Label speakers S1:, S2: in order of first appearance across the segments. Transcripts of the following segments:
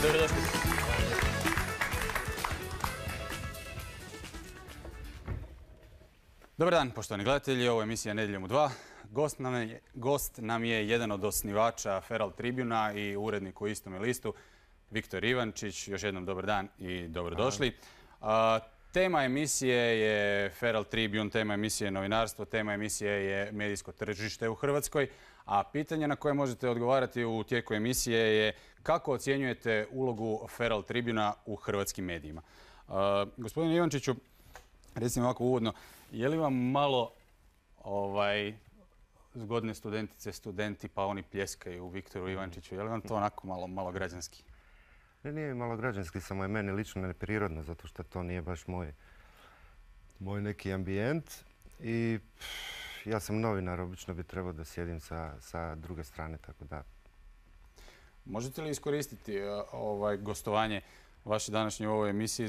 S1: Dobrodošli. Dobar dan, poštovani gledatelji. Ovo je emisija Nedjeljom u 2. Gost nam je jedan od osnivača Feral Tribuna i urednik u istome listu, Viktor Ivančić. Još jednom dobar dan i dobrodošli. Tema emisije je Feral Tribune, tema emisije je novinarstvo, tema emisije je medijsko tržište u Hrvatskoj. A pitanje na koje možete odgovarati u tijeku emisije je kako ocjenjujete ulogu Feral Tribuna u hrvatskim medijima. Gospodine Ivančiću, recimo ovako uvodno, je li vam malo zgodne studentice, studenti pa oni pljeskaju Viktoru Ivančiću, je li vam to onako malo građanski?
S2: Ne, nije malo građanski, samo je meni lično neprirodno, zato što to nije baš moj neki ambijent. I ja sam novinar, obično bi trebao da sjedim sa druge strane, tako da...
S1: Možete li iskoristiti gostovanje vaše današnje u ovoj emisiji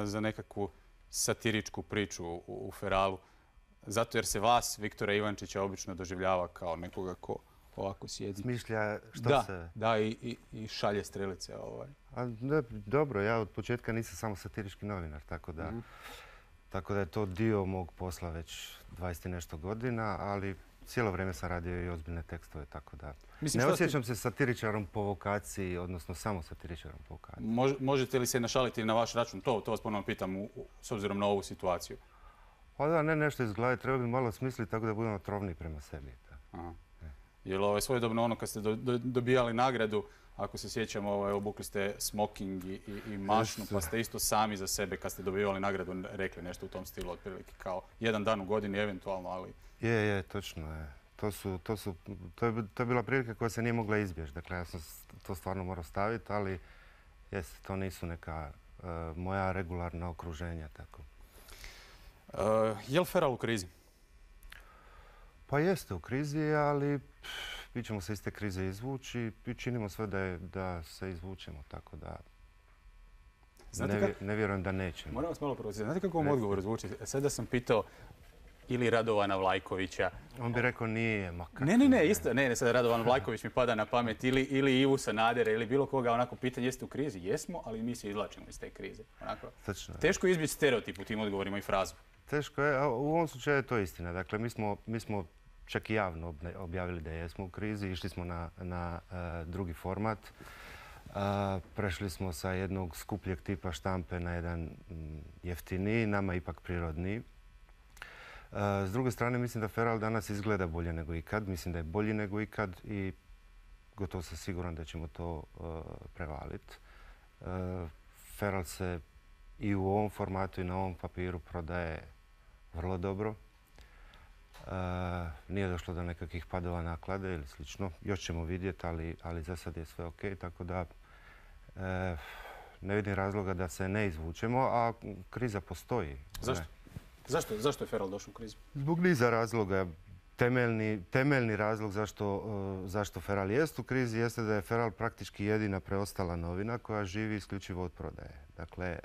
S1: za nekakvu satiričku priču u Feralu? Zato jer se vas, Viktora Ivančića, obično doživljava kao nekoga ko ovako sjedi.
S2: Smišlja što se...
S1: Da, i šalje strelice.
S2: Dobro, ja od početka nisam samo satirički novinar, tako da je to dio mog posla već 20 i nešto godina, ali cijelo vrijeme sam radio i ozbiljne tekstove, tako da... Ne osjećam se satiričarom po vokaciji, odnosno samo satiričarom po vokaciji.
S1: Možete li se našaliti na vaš račun? To vas ponovno pitam s obzirom na ovu situaciju.
S2: Pa da, ne nešto iz glave, treba bi malo smisliti tako da budemo otrovni prema sebi.
S1: Jer svojedobno ono kad ste dobijali nagradu, ako se sjećamo, obukli ste smoking i mašnu, pa ste isto sami za sebe kad ste dobivali nagradu rekli nešto u tom stilu otprilike, kao jedan dan u godini eventualno, ali... Je,
S2: točno je. To je bila prilika koja se nije mogla izbjeći. Dakle, ja sam to stvarno morao staviti, ali to nisu neka moja regularna okruženja. Tako.
S1: Je li Feral u krizi?
S2: Pa jeste u krizi, ali mi ćemo se iz te krize izvući i činimo sve da se izvučemo, tako da ne vjerujem da nećemo.
S1: Moram vas malo provocirati. Znate kako vam odgovor zvuči? Sada sam pitao ili Radovana Vlajkovića.
S2: On bi rekao nije, makar.
S1: Ne, isto. Ne, sada Radovan Vlajković mi pada na pamet. Ili Ivu Sanadera ili bilo koga, onako pitanje jeste u krizi. Jesmo, ali mi se izvlačimo iz te krize. Teško je izbjeći stereotip u tim odgovorima i frazu.
S2: Teško je, a u ovom slučaju je to istina. Dakle, mi smo čak i javno objavili da jesmo u krizi. Išli smo na drugi format. Prešli smo sa jednog skupljeg tipa štampe na jedan jeftiniji, nama ipak prirodniji. S druge strane, mislim da Feral danas izgleda bolje nego ikad. Mislim da je bolji nego ikad i gotovo sam siguran da ćemo to prevaliti. Feral se i u ovom formatu i na ovom papiru prodaje vrlo dobro. Nije došlo do nekakvih padova naklade ili slično. Još ćemo vidjeti, ali za sad je sve ok. Tako da ne vidim razloga da se ne izvučemo, a kriza postoji.
S1: Zašto? Zašto je Feral došao u krizu?
S2: Zbog niza razloga. Temeljni razlog zašto Feral jest u krizi jeste da je Feral praktički jedina preostala novina koja živi isključivo od prodaje. Dakle,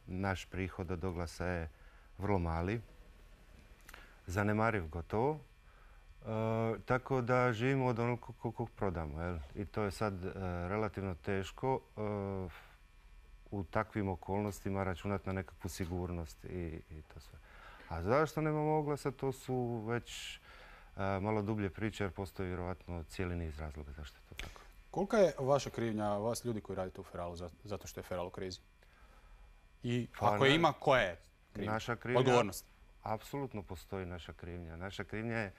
S2: naš prihod od oglasa je vrlo mali, zanemariv gotovo, tako da živimo od onog koliko prodamo. I to je sad relativno teško u takvim okolnostima računati na nekakvu sigurnost i to sve. A zašto nemamo oglasa, to su već malo dublje priče jer postoji vjerovatno cijeli niz razloga zašto je to tako.
S1: Kolika je vaša krivnja, vas ljudi koji radite u Feralu, zato što je Feral u krizi? I ako je ima, koja je krivnja?
S2: Naša krivnja,
S1: odgovornost?
S2: Apsolutno postoji naša krivnja. Naša krivnja je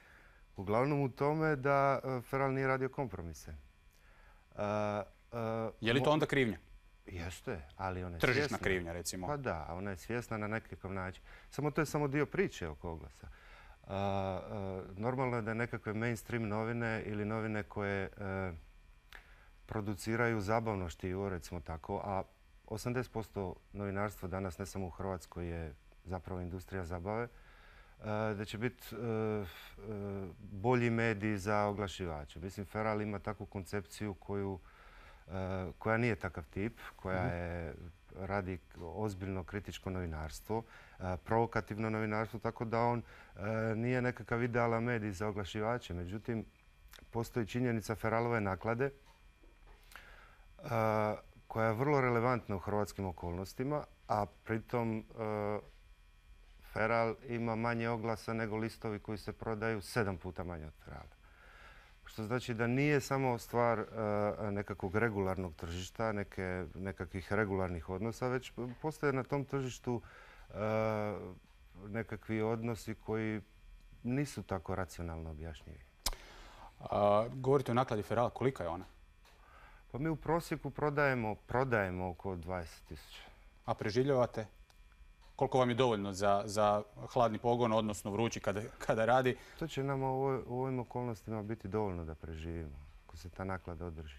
S2: uglavnom u tome da Feral nije radio kompromise.
S1: Je li to onda krivnja?
S2: Jeste, ali ona je svjesna.
S1: Tržišna krivnja, recimo.
S2: Pa da, ona je svjesna na nekakav način. Samo to je samo dio priče oko oglasa. Normalno je da nekakve mainstream novine ili novine koje produciraju zabavno štivo, recimo tako, a 80% novinarstva danas, ne samo u Hrvatskoj, je zapravo industrija zabave, da će biti bolji mediji za oglašivače. Mislim, Feral ima takvu koncepciju koja nije takav tip, koja radi ozbiljno kritičko novinarstvo, provokativno novinarstvo, tako da on nije nekakav idealan medij za oglašivače. Međutim, postoji činjenica Feralove naklade koja je vrlo relevantna u hrvatskim okolnostima, a pritom feral ima manje oglasa nego listovi koji se prodaju 7 puta manje od ferala. Što znači da nije samo stvar nekakvog regularnog tržišta, nekakvih regularnih odnosa, već postoje na tom tržištu nekakvi odnosi koji nisu tako racionalno objašnjivi.
S1: Govorite o nakladi ferala, kolika je ona?
S2: Pa mi u prosjeku prodajemo oko 20.000.
S1: A preživljavate? Koliko vam je dovoljno za hladni pogon, odnosno vrući kada radi?
S2: To će nama u ovim okolnostima biti dovoljno da preživimo, ako se ta naklada održi.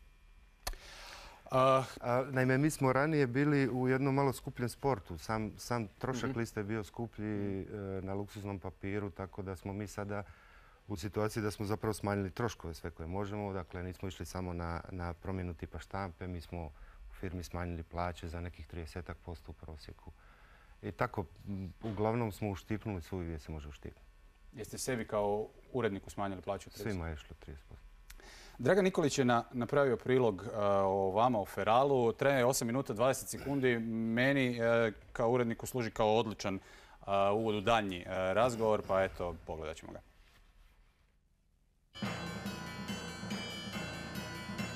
S2: Naime, mi smo ranije bili u jednom malo skupljem sportu. Sam trošak liste je bio skuplji na luksuznom papiru, tako da smo mi sada u situaciji da smo zapravo smanjili troškove sve koje možemo. Dakle, nismo išli samo na promjenu tipa štampe, mi smo u firmi smanjili plaće za nekih 30% u prosjeku. I tako, uglavnom smo uštipnuli svoj gdje se može uštipnuti.
S1: Jeste sebi kao uredniku smanjili plaću 30%?
S2: Svima je išlo 30%.
S1: Dragan Nikolić je napravio prilog o vama, o feralu. Traje 8 minuta 20 sekundi. Meni kao uredniku služi kao odličan uvod u daljnji razgovor, pa eto, pogledat ćemo ga.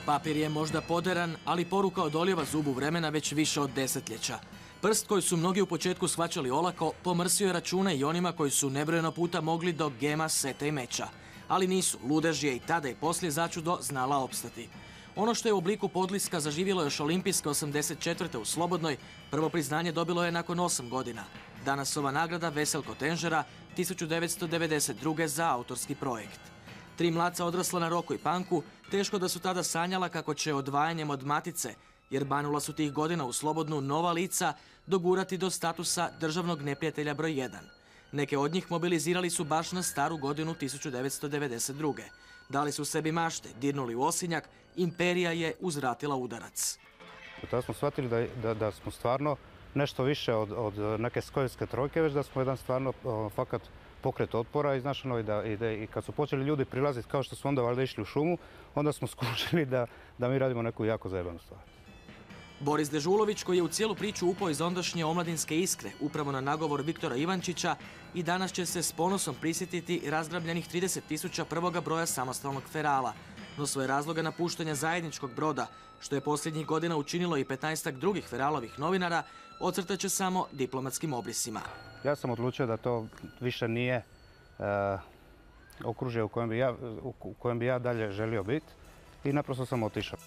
S3: Papir je možda poderan, ali poruka odolijeva zubu vremena već više od desetljeća. Prst koji su mnogi u početku shvaćali olako, pomrsio je račune i onima koji su nebrojeno puta mogli do gema, seta i meča. Ali nisu, ludež je i tada i poslije začudo znala opstati. Ono što je u obliku podliska zaživjelo još olimpijske 84. u Slobodnoj, prvo priznanje dobilo je nakon 8 godina. Danas ova nagrada Veselko Tenžera 1992. za autorski projekt. 3 mladca odrasla na Roku i Panku, teško da su tada sanjala kako će odvajanjem od matice, jer banula su tih godina u Slobodnu nova lica, dogurati do statusa državnog neprijatelja broj 1. Neke od njih mobilizirali su baš na staru godinu 1992. Dali su sebi mašte, dirnuli u osinjak, imperija je uzvratila udarac.
S4: Tada smo shvatili da smo stvarno nešto više od neke skojevske trojke, već da smo jedan stvarno fakat pokret otpora iznašano i kad su počeli ljudi prilaziti kao što su onda valjda išli u šumu, onda smo skušali da mi radimo neku jako zajebanu stvar.
S3: Boris Dežulović, koji je u cijelu priču upao iz ondašnje omladinske Iskre, upravo na nagovor Viktora Ivančića, i danas će se s ponosom prisjetiti razgrabljenih 30.000 prvoga broja samostalnog ferala. No svoje razloga napuštanja zajedničkog broda, što je posljednjih godina učinilo i 15-ak drugih feralovih novinara, ocrtat će samo diplomatskim obrisima.
S4: Ja sam odlučio da to više nije okružje u kojem bi ja dalje želio biti i naprosto sam otišao.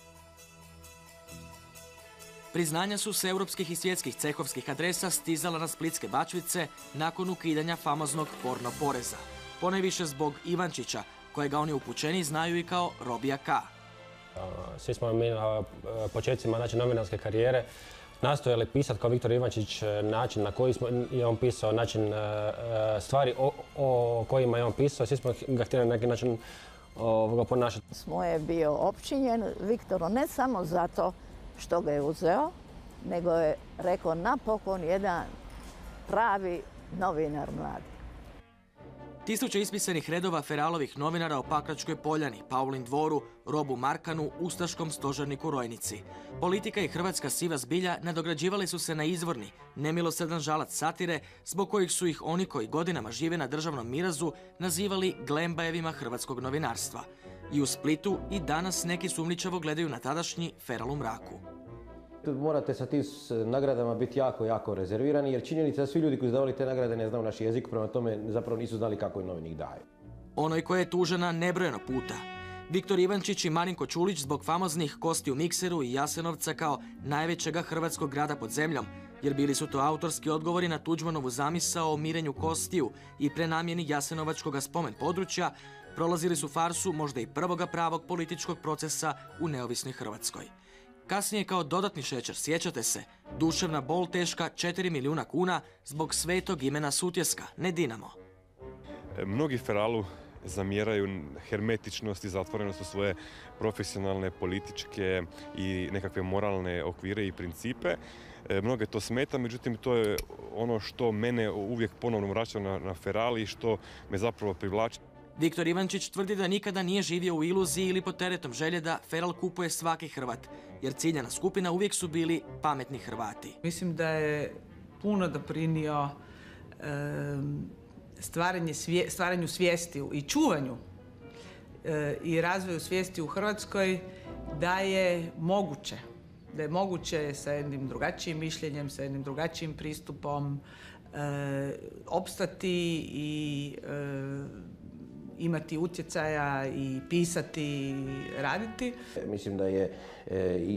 S3: Priznanja su s europskih i svjetskih cehovskih adresa stizala na splitske bačvice nakon ukidanja famoznog porno poreza. Ponajviše zbog Ivančića, kojega oni upućeni znaju i kao Robija K.
S5: Svi smo mi na početcima novinarske karijere nastojali pisati kao Viktor Ivančić način na koji je on pisao, način stvari o kojima je on pisao. Svi smo ga htjeli na neki način ponašati.
S6: Smo je bio opčinjen Viktoru ne samo zato što ga je uzeo, nego je rekao napokon jedan pravi novinar mladi.
S3: Tisuće ispisanih redova feralovih novinara o Pakračkoj Poljani, Paulin dvoru, Robu Markanu, ustaškom stožerniku Rojnici. Politika i hrvatska siva zbilja nadograđivali su se na izvorni, nemilosrdan žalac satire, zbog kojih su ih oni koji godinama žive na državnom mirazu nazivali Glembajevima hrvatskog novinarstva. I u Splitu i danas neki sumnjičavo gledaju na tadašnji feral u mraku.
S5: Morate sa tim nagradama biti jako, jako rezervirani, jer činjenica da svi ljudi koji su davali te nagrade ne znaju naš jezik, prema tome zapravo nisu znali kako je novinik daje.
S3: Onoj koja je tužena nebrojeno puta. Viktor Ivančić i Marinko Čulić zbog famoznih Kosti u mikseru i Jasenovca kao najvećega hrvatskog grada pod zemljom, jer bili su to autorski odgovori na Tuđmanovu zamisao o mirenju kostiju i prenamjeni Jasenovačkog spomen područja, prolazili su farsu možda i prvoga pravog političkog procesa u neovisnoj Hrvatskoj. Kasnije kao dodatni šećer, sjećate se, duševna bol teška 4 milijuna kuna zbog svetog imena Sutjeska, ne Dinamo.
S7: Mnogi feralu zamjeraju hermetičnost i zatvorenost u svoje profesionalne, političke i nekakve moralne okvire i principe. Mnoge to smeta, međutim to je ono što mene uvijek ponovno vraća na feral i što me zapravo privlači.
S3: Viktor Ivančić tvrdi da nikada nije živio u iluziji ili pod teretom želje da feral kupuje svaki Hrvat, jer ciljana skupina uvijek su bili pametni Hrvati.
S8: Mislim da je puno doprinio stvaranju svijesti i čuvanju i razvoju svijesti u Hrvatskoj da je moguće sa jednim drugačijim mišljenjem, sa jednim drugačijim pristupom opstati i imati utjecaja i pisati i raditi.
S9: Mislim da je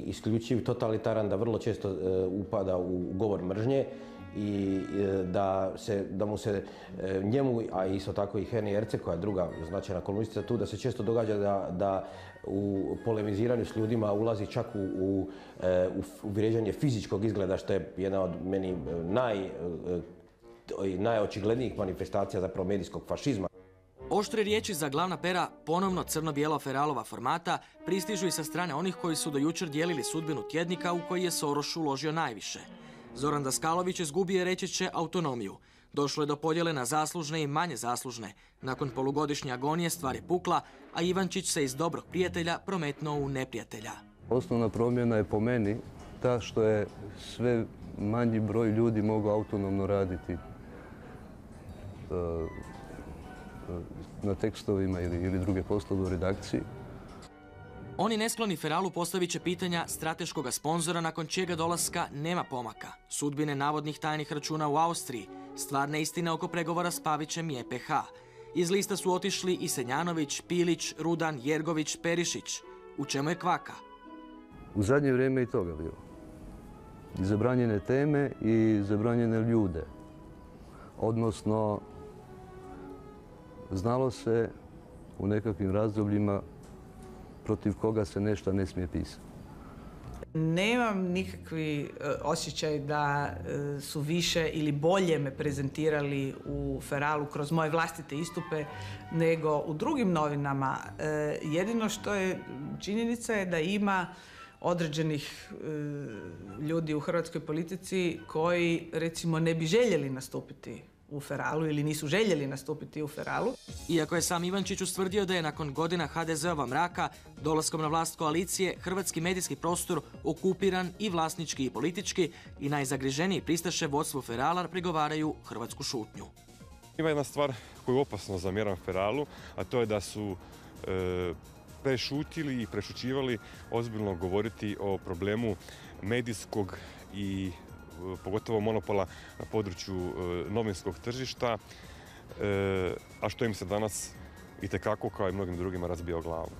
S9: isključiv totalitaran, da vrlo često upada u govor mržnje i da mu se njemu, a isto tako i Heni Erceg, koja je druga značajna kolumnistica tu, da se često događa da u polemiziranju s ljudima ulazi čak u vrijeđanje fizičkog izgleda, što je jedna od meni najočiglednijih manifestacija zapravo medijskog fašizma.
S3: Oštre riječi za glavna pera ponovno crno-bijelo feralova formata pristižu i sa strane onih koji su do jučer dijelili sudbinu tjednika u koji je Soroš uložio najviše. Zoran Daskalović izgubio je, reći će, autonomiju. Došlo je do podjele na zaslužne i manje zaslužne. Nakon polugodišnje agonije stvar je pukla, a Ivančić se iz dobrog prijatelja prometnuo u neprijatelja.
S10: Osnovna promjena je po meni ta što je sve manji broj ljudi mogao autonomno raditi na tekstovima ili druge poslove u redakciji.
S3: Oni neskloni feralu postavit će pitanja strateškoga sponzora nakon čijega dolaska nema pomaka, sudbine navodnih tajnih računa u Austriji, stvarne istine oko pregovora s Pavićem i EPH. Iz lista su otišli i Senjanović, Pilić, Rudan, Jergović, Perišić. U čemu je kvaka?
S10: U zadnje vrijeme i toga bilo. I zabranjene teme i zabranjene ljude. Odnosno, znalo se u nekakvim razdobljima protiv koga se nešto ne smije pisati.
S8: Nemam nikakvi osjećaj da su više ili bolje me prezentirali u Feralu kroz moje vlastite istupe nego u drugim novinama. Jedino što je činjenica je da ima određenih ljudi u hrvatskoj politici koji, recimo, ne bi željeli nastupiti u Feralu ili nisu željeli nastupiti u Feralu.
S3: Iako je sam Ivančić ustvrdio da je nakon godina HDZ-ova mraka, dolaskom na vlast koalicije, hrvatski medijski prostor okupiran i vlasnički i politički, i najzagriženiji pristaše vodstvu Ferala prigovaraju hrvatsku šutnju.
S7: Ima jedna stvar koju opasno zamjeram Feralu, a to je da su prešutili i prešućivali ozbiljno govoriti o problemu medijskog i pogotovo monopola na području novinskog tržišta, a što im se danas itekako, kao i mnogim drugima, razbija o glavu.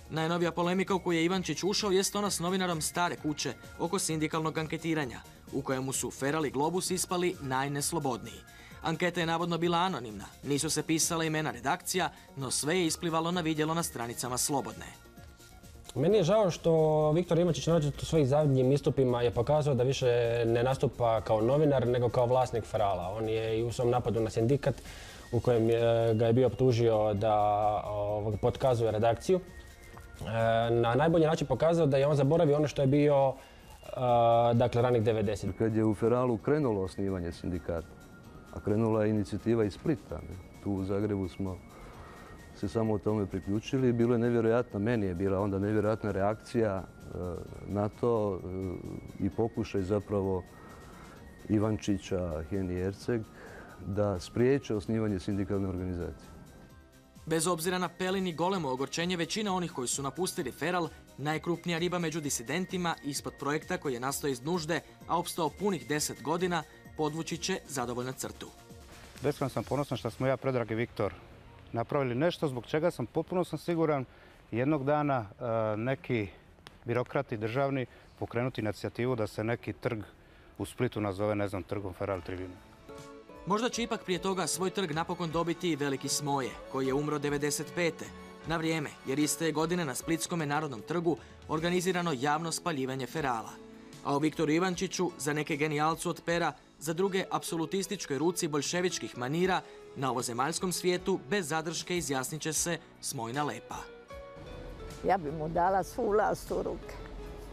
S3: Najnovija polemika u koju je Ivančić ušao jest ona s novinarom Stare kuće oko sindikalnog anketiranja, u kojemu su Feral i Globus ispali najneslobodniji. Anketa je navodno bila anonimna, nisu se pisala imena redakcija, no sve je isplivalo na vidjelo na stranicama Slobodne.
S5: Meni je žao što Viktor Ivančić u svojih zadnjim istupima je pokazao da više ne nastupa kao novinar nego kao vlasnik Ferala. On je i u svom napadu na sindikat u kojem ga je bio optužio da potkazuje redakciju, na najbolji način pokazao da je on zaboravio ono što je bio ranih 90.
S10: Kad je u Feralu krenulo osnivanje sindikata, a krenula je inicijativa iz Splita, tu u Zagrebu smo se samo o tome priključili. Bilo je nevjerojatno, meni je bila onda nevjerojatna reakcija na to i pokušaj zapravo Ivančića, Heni Erceg da spriječe osnivanje sindikalne organizacije.
S3: Bez obzira na pelin i golemo ogorčenje većina onih koji su napustili Feral, najkrupnija riba među disidentima ispod projekta koji je nastao iz nužde, a opstao punih 10 godina, podvući će zadovoljnu crtu.
S4: Beskrajno sam ponosan što smo ja, Predrag i Viktor napravili nešto zbog čega sam potpuno siguran jednog dana neki birokrati državni pokrenuti inicijativu da se neki trg u Splitu nazove, ne znam, trgom Feral Tribune.
S3: Možda će ipak prije toga svoj trg napokon dobiti i Veliki Smoje, koji je umro 95. na vrijeme, jer iste je godine na Splitskome narodnom trgu organizirano javno spaljivanje Ferala. A o Viktoru Ivančiću, za neke genijalcu od pera, za druge apsolutističkoj ruci boljševičkih manira, na ovozemaljskom svijetu bez zadrške izjasnit će se Smojna Lepa.
S6: Ja bi mu dala svu vlast u ruke.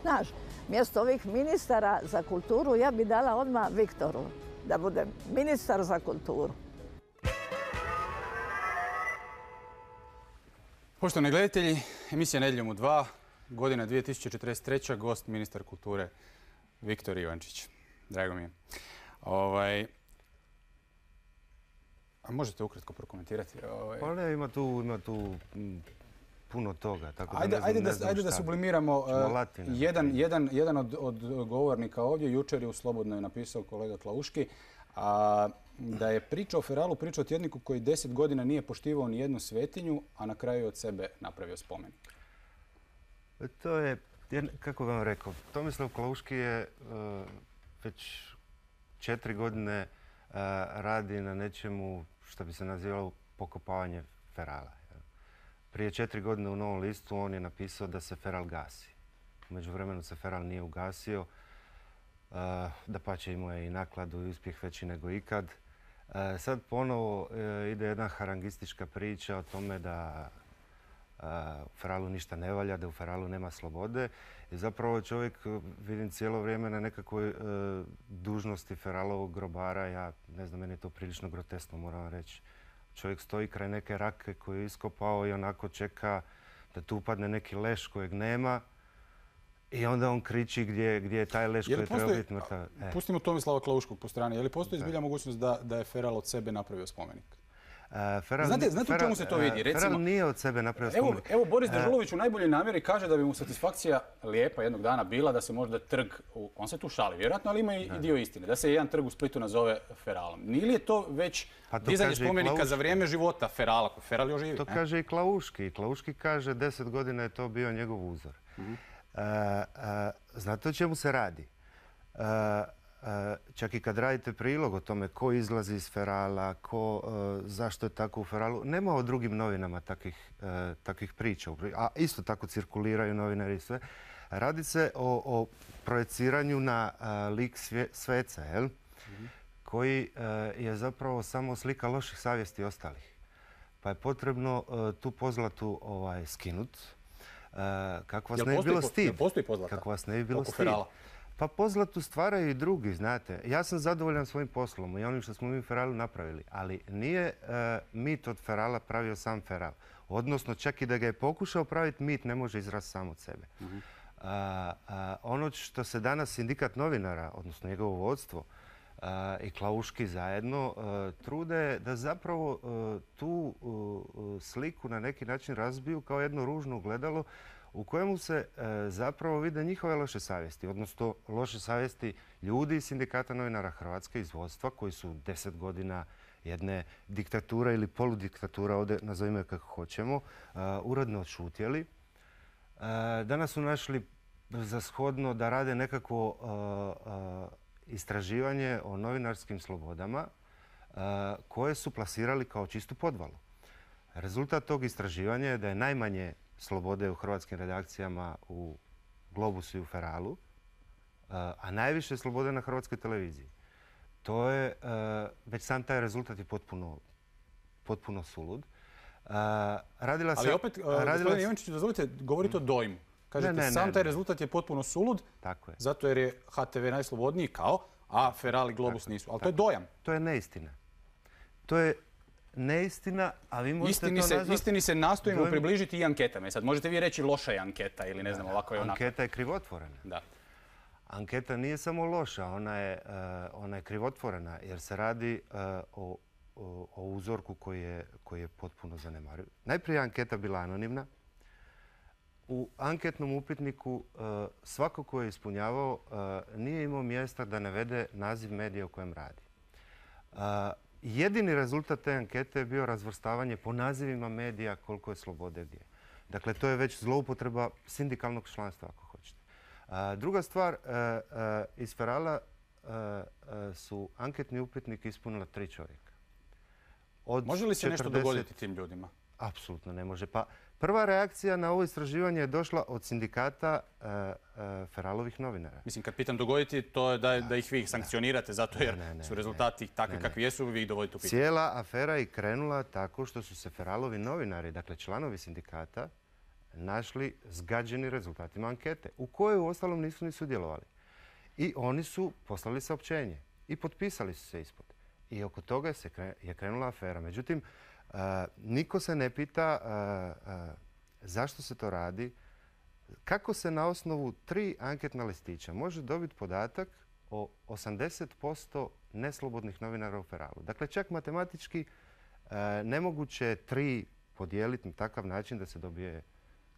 S6: Znaš, mjesto ovih ministara za kulturu ja bi dala odmah Viktoru, da bude ministar za kulturu.
S1: Poštovani gledatelji, emisija Nedjeljom u 2, godina 2043. Gost ministar kulture Viktor Ivančić. Drago mi je. A možete ukratko prokomentirati?
S2: Pa ne, ima tu puno toga. Tako
S1: Ajde da sublimiramo. Jedan od govornika ovdje jučer je u Slobodnoj napisao kolega Klauški da je priča o Feralu priča o tjedniku koji 10 godina nije poštivao ni jednu svetinju, a na kraju je od sebe napravio spomenik.
S2: To je, kako bih vam rekao, Tomislav Klauški je već 4 godine radi na nečemu što bi se nazivalo pokopavanje Ferala. Prije 4 godine u Novom listu on je napisao da se Feral gasi. U međuvremenu se Feral nije ugasio. Dapače, imao je i nakladu i uspjeh veći nego ikad. Sad ponovo ide jedna harangistička priča o tome da u Feralu ništa ne valja, da u Feralu nema slobode. I zapravo čovjek, vidim cijelo vrijeme na nekakvoj dužnosti Feralovog grobara. Ja ne znam, meni je to prilično groteskno, moram vam reći. Čovjek stoji kraj neke rake koju je iskopao i onako čeka da tu upadne neki leš kojeg nema. I onda on kriči gdje je taj leš koji treba biti mrtav.
S1: Pustimo Tomislava Klauškog po strani. Je li postoji zbilja mogućnost da je Feral od sebe napravio spomenik? Znate u čemu se to vidi?
S2: Feral nije od sebe napravio spomenik.
S1: Evo Boris Dežulović u najboljoj namjeri kaže da bi mu satisfakcija lijepa jednog dana bila da se možda trg, on se tu šali vjerojatno, ali ima i dio istine, da se jedan trg u Splitu nazove Feralom. Nije li to već dizanje spomenika za vrijeme života Ferala, koji Feral još živi?
S2: To kaže i Klauški. Klauški kaže 10 godina je to bio njegov uzor. Znate o čemu se radi? Čak i kad radite prilog o tome ko izlazi iz Ferala, zašto je tako u Feralu, nema u drugim novinama takvih priča. A isto tako cirkuliraju novinari i sve. Radi se o projeciranju na lik sveca, koji je zapravo samo slika loših savjesti ostalih. Pa je potrebno tu pozlatu skinuti. Kako vas ne bi bilo stid. Kako vas ne bi bilo stid. Pa pozlatu stvaraju i drugi, znate. Ja sam zadovoljan svojim poslom i onim što smo mi u Feralu napravili. Ali nije mit od Ferala pravio sam Feral. Odnosno, čak i da ga je pokušao praviti, mit ne može izrasti sam od sebe. Ono što se danas sindikat novinara, odnosno njegovo vodstvo, i Klauški zajedno trude da zapravo tu sliku na neki način razbiju kao jedno ružno ogledalo u kojemu se zapravo vide njihove loše savjesti, odnosno loše savjesti ljudi iz Sindikata novinara Hrvatske, iz vodstva, koji su 10 godina jedne diktature ili poludiktature, ovdje nazovimo je kako hoćemo, uredno odšutjeli. Danas su našli za shodno da rade nekakvo istraživanje o novinarskim slobodama koje su plasirali kao čistu podvalu. Rezultat tog istraživanja je da je najmanje slobode u hrvatskim redakcijama u Globusu i u Feralu, a najviše slobode na Hrvatskoj televiziji. To je, već sam taj rezultat je potpuno sulud.
S1: Ali opet, gospodine Ivančiću, dozvolite, govorite o dojmu. Kažete, sam taj rezultat je potpuno sulud, zato jer je HTV najslobodniji a Feral i Globus nisu. Ali to je dojam.
S2: To je neistina. To je neistina, a vi možete to nazvati...
S1: Istini se nastojimo približiti i anketama. Sad možete vi reći loša je anketa ili ne znam ovako je onako.
S2: Anketa je krivotvorena.
S1: Da.
S2: Anketa nije samo loša, ona je krivotvorena jer se radi o uzorku koji je potpuno zanemariv. Najprije je anketa bila anonimna. U anketnom upitniku svako ko je ispunjavao nije imao mjesta da navede naziv medija u kojem radi. Jedini rezultat te ankete je bio razvrstavanje po nazivima medija koliko je slobode gdje. Dakle, to je već zloupotreba sindikalnog članstva, ako hoćete. Druga stvar, iz Ferala su anketni upitnik ispunila 3 čovjeka.
S1: Može li se nešto dogoditi tim ljudima?
S2: Apsolutno ne može. Pa prva reakcija na ovo istraživanje je došla od sindikata Feralovih novinara.
S1: Mislim, kad pitam dogoditi, to je da ih vi sankcionirate zato jer su rezultati takvi kakvi jesu, vi ih dovodite u pitanje.
S2: Cijela afera je krenula tako što su se Feralovi novinari, dakle članovi sindikata, našli zgađeni rezultatima ankete, u kojoj uostalom nisu ni sudjelovali. I oni su poslali saopćenje i potpisali su se ispod. I oko toga je krenula afera. Međutim, niko se ne pita zašto se to radi, kako se na osnovu 3 anketna listića može dobiti podatak o 80% neslobodnih novinara u Feralu. Dakle, čak matematički nemoguće je 3 podijeliti na takav način da se dobije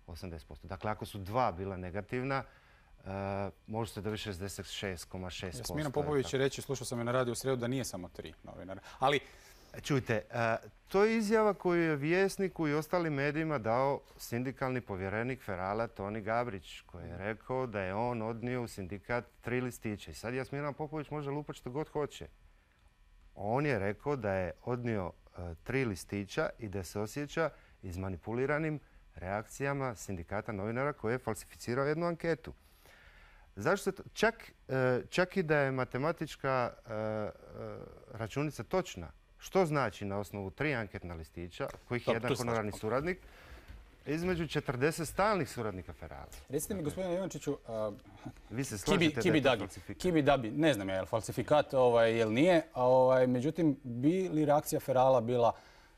S2: 80%. Dakle, ako su 2 bila negativna, može se dobiti 66,6%.
S1: Jasmina Popović će reći, slušao sam je na radiju u srijedu, da nije samo 3 novinara. Ali,
S2: čujte, to je izjava koju je Vjesniku i ostalim medijima dao sindikalni povjerenik Ferala Toni Gabrić, koji je rekao da je on odnio u sindikat 3 listića. I sad Jasmina Popović može lupati što god hoće. On je rekao da je odnio 3 listića i da se osjeća izmanipuliranim reakcijama sindikata novinara koji je falsificirao jednu anketu. Zašto se to? Čak i da je matematička računica točna, što znači na osnovu 3 anketna listića, kojih je jedan honorarni suradnik, između 40 stalnih suradnika Ferala.
S1: Recite mi, gospodine Ivančiću,
S2: vi se slažete da je to falsifikat?
S1: Kibi Dabi, ne znam je li falsifikat, jel nije, međutim, bi li reakcija Ferala bila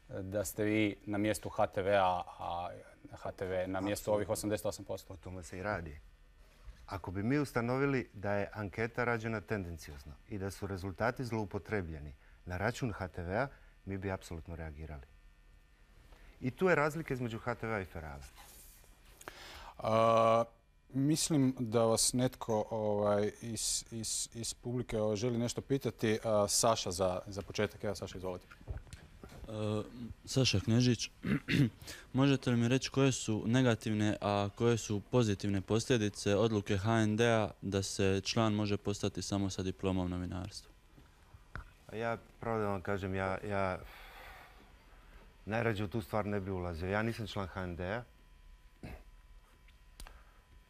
S1: da ste vi na mjestu HTV-a, a HTV na mjestu ovih 88%?
S2: O tome se i radi. Ako bi mi ustanovili da je anketa rađena tendenciozno i da su rezultati zloupotrebljeni na račun HTV-a, mi bi apsolutno reagirali. I tu je razlika između HTV-a i Ferala.
S1: Mislim da vas netko iz publike želi nešto pitati. Saša za početak. Evo, Saša, izvolite.
S11: Saša Knežić, možete li mi reći koje su negativne, a koje su pozitivne posljedice odluke HND-a da se član može postati samo sa diplomom novinarstva?
S2: Ja, pravo da vam kažem, ja najrađe u tu stvar ne bi ulazio. Ja nisam član HND-a.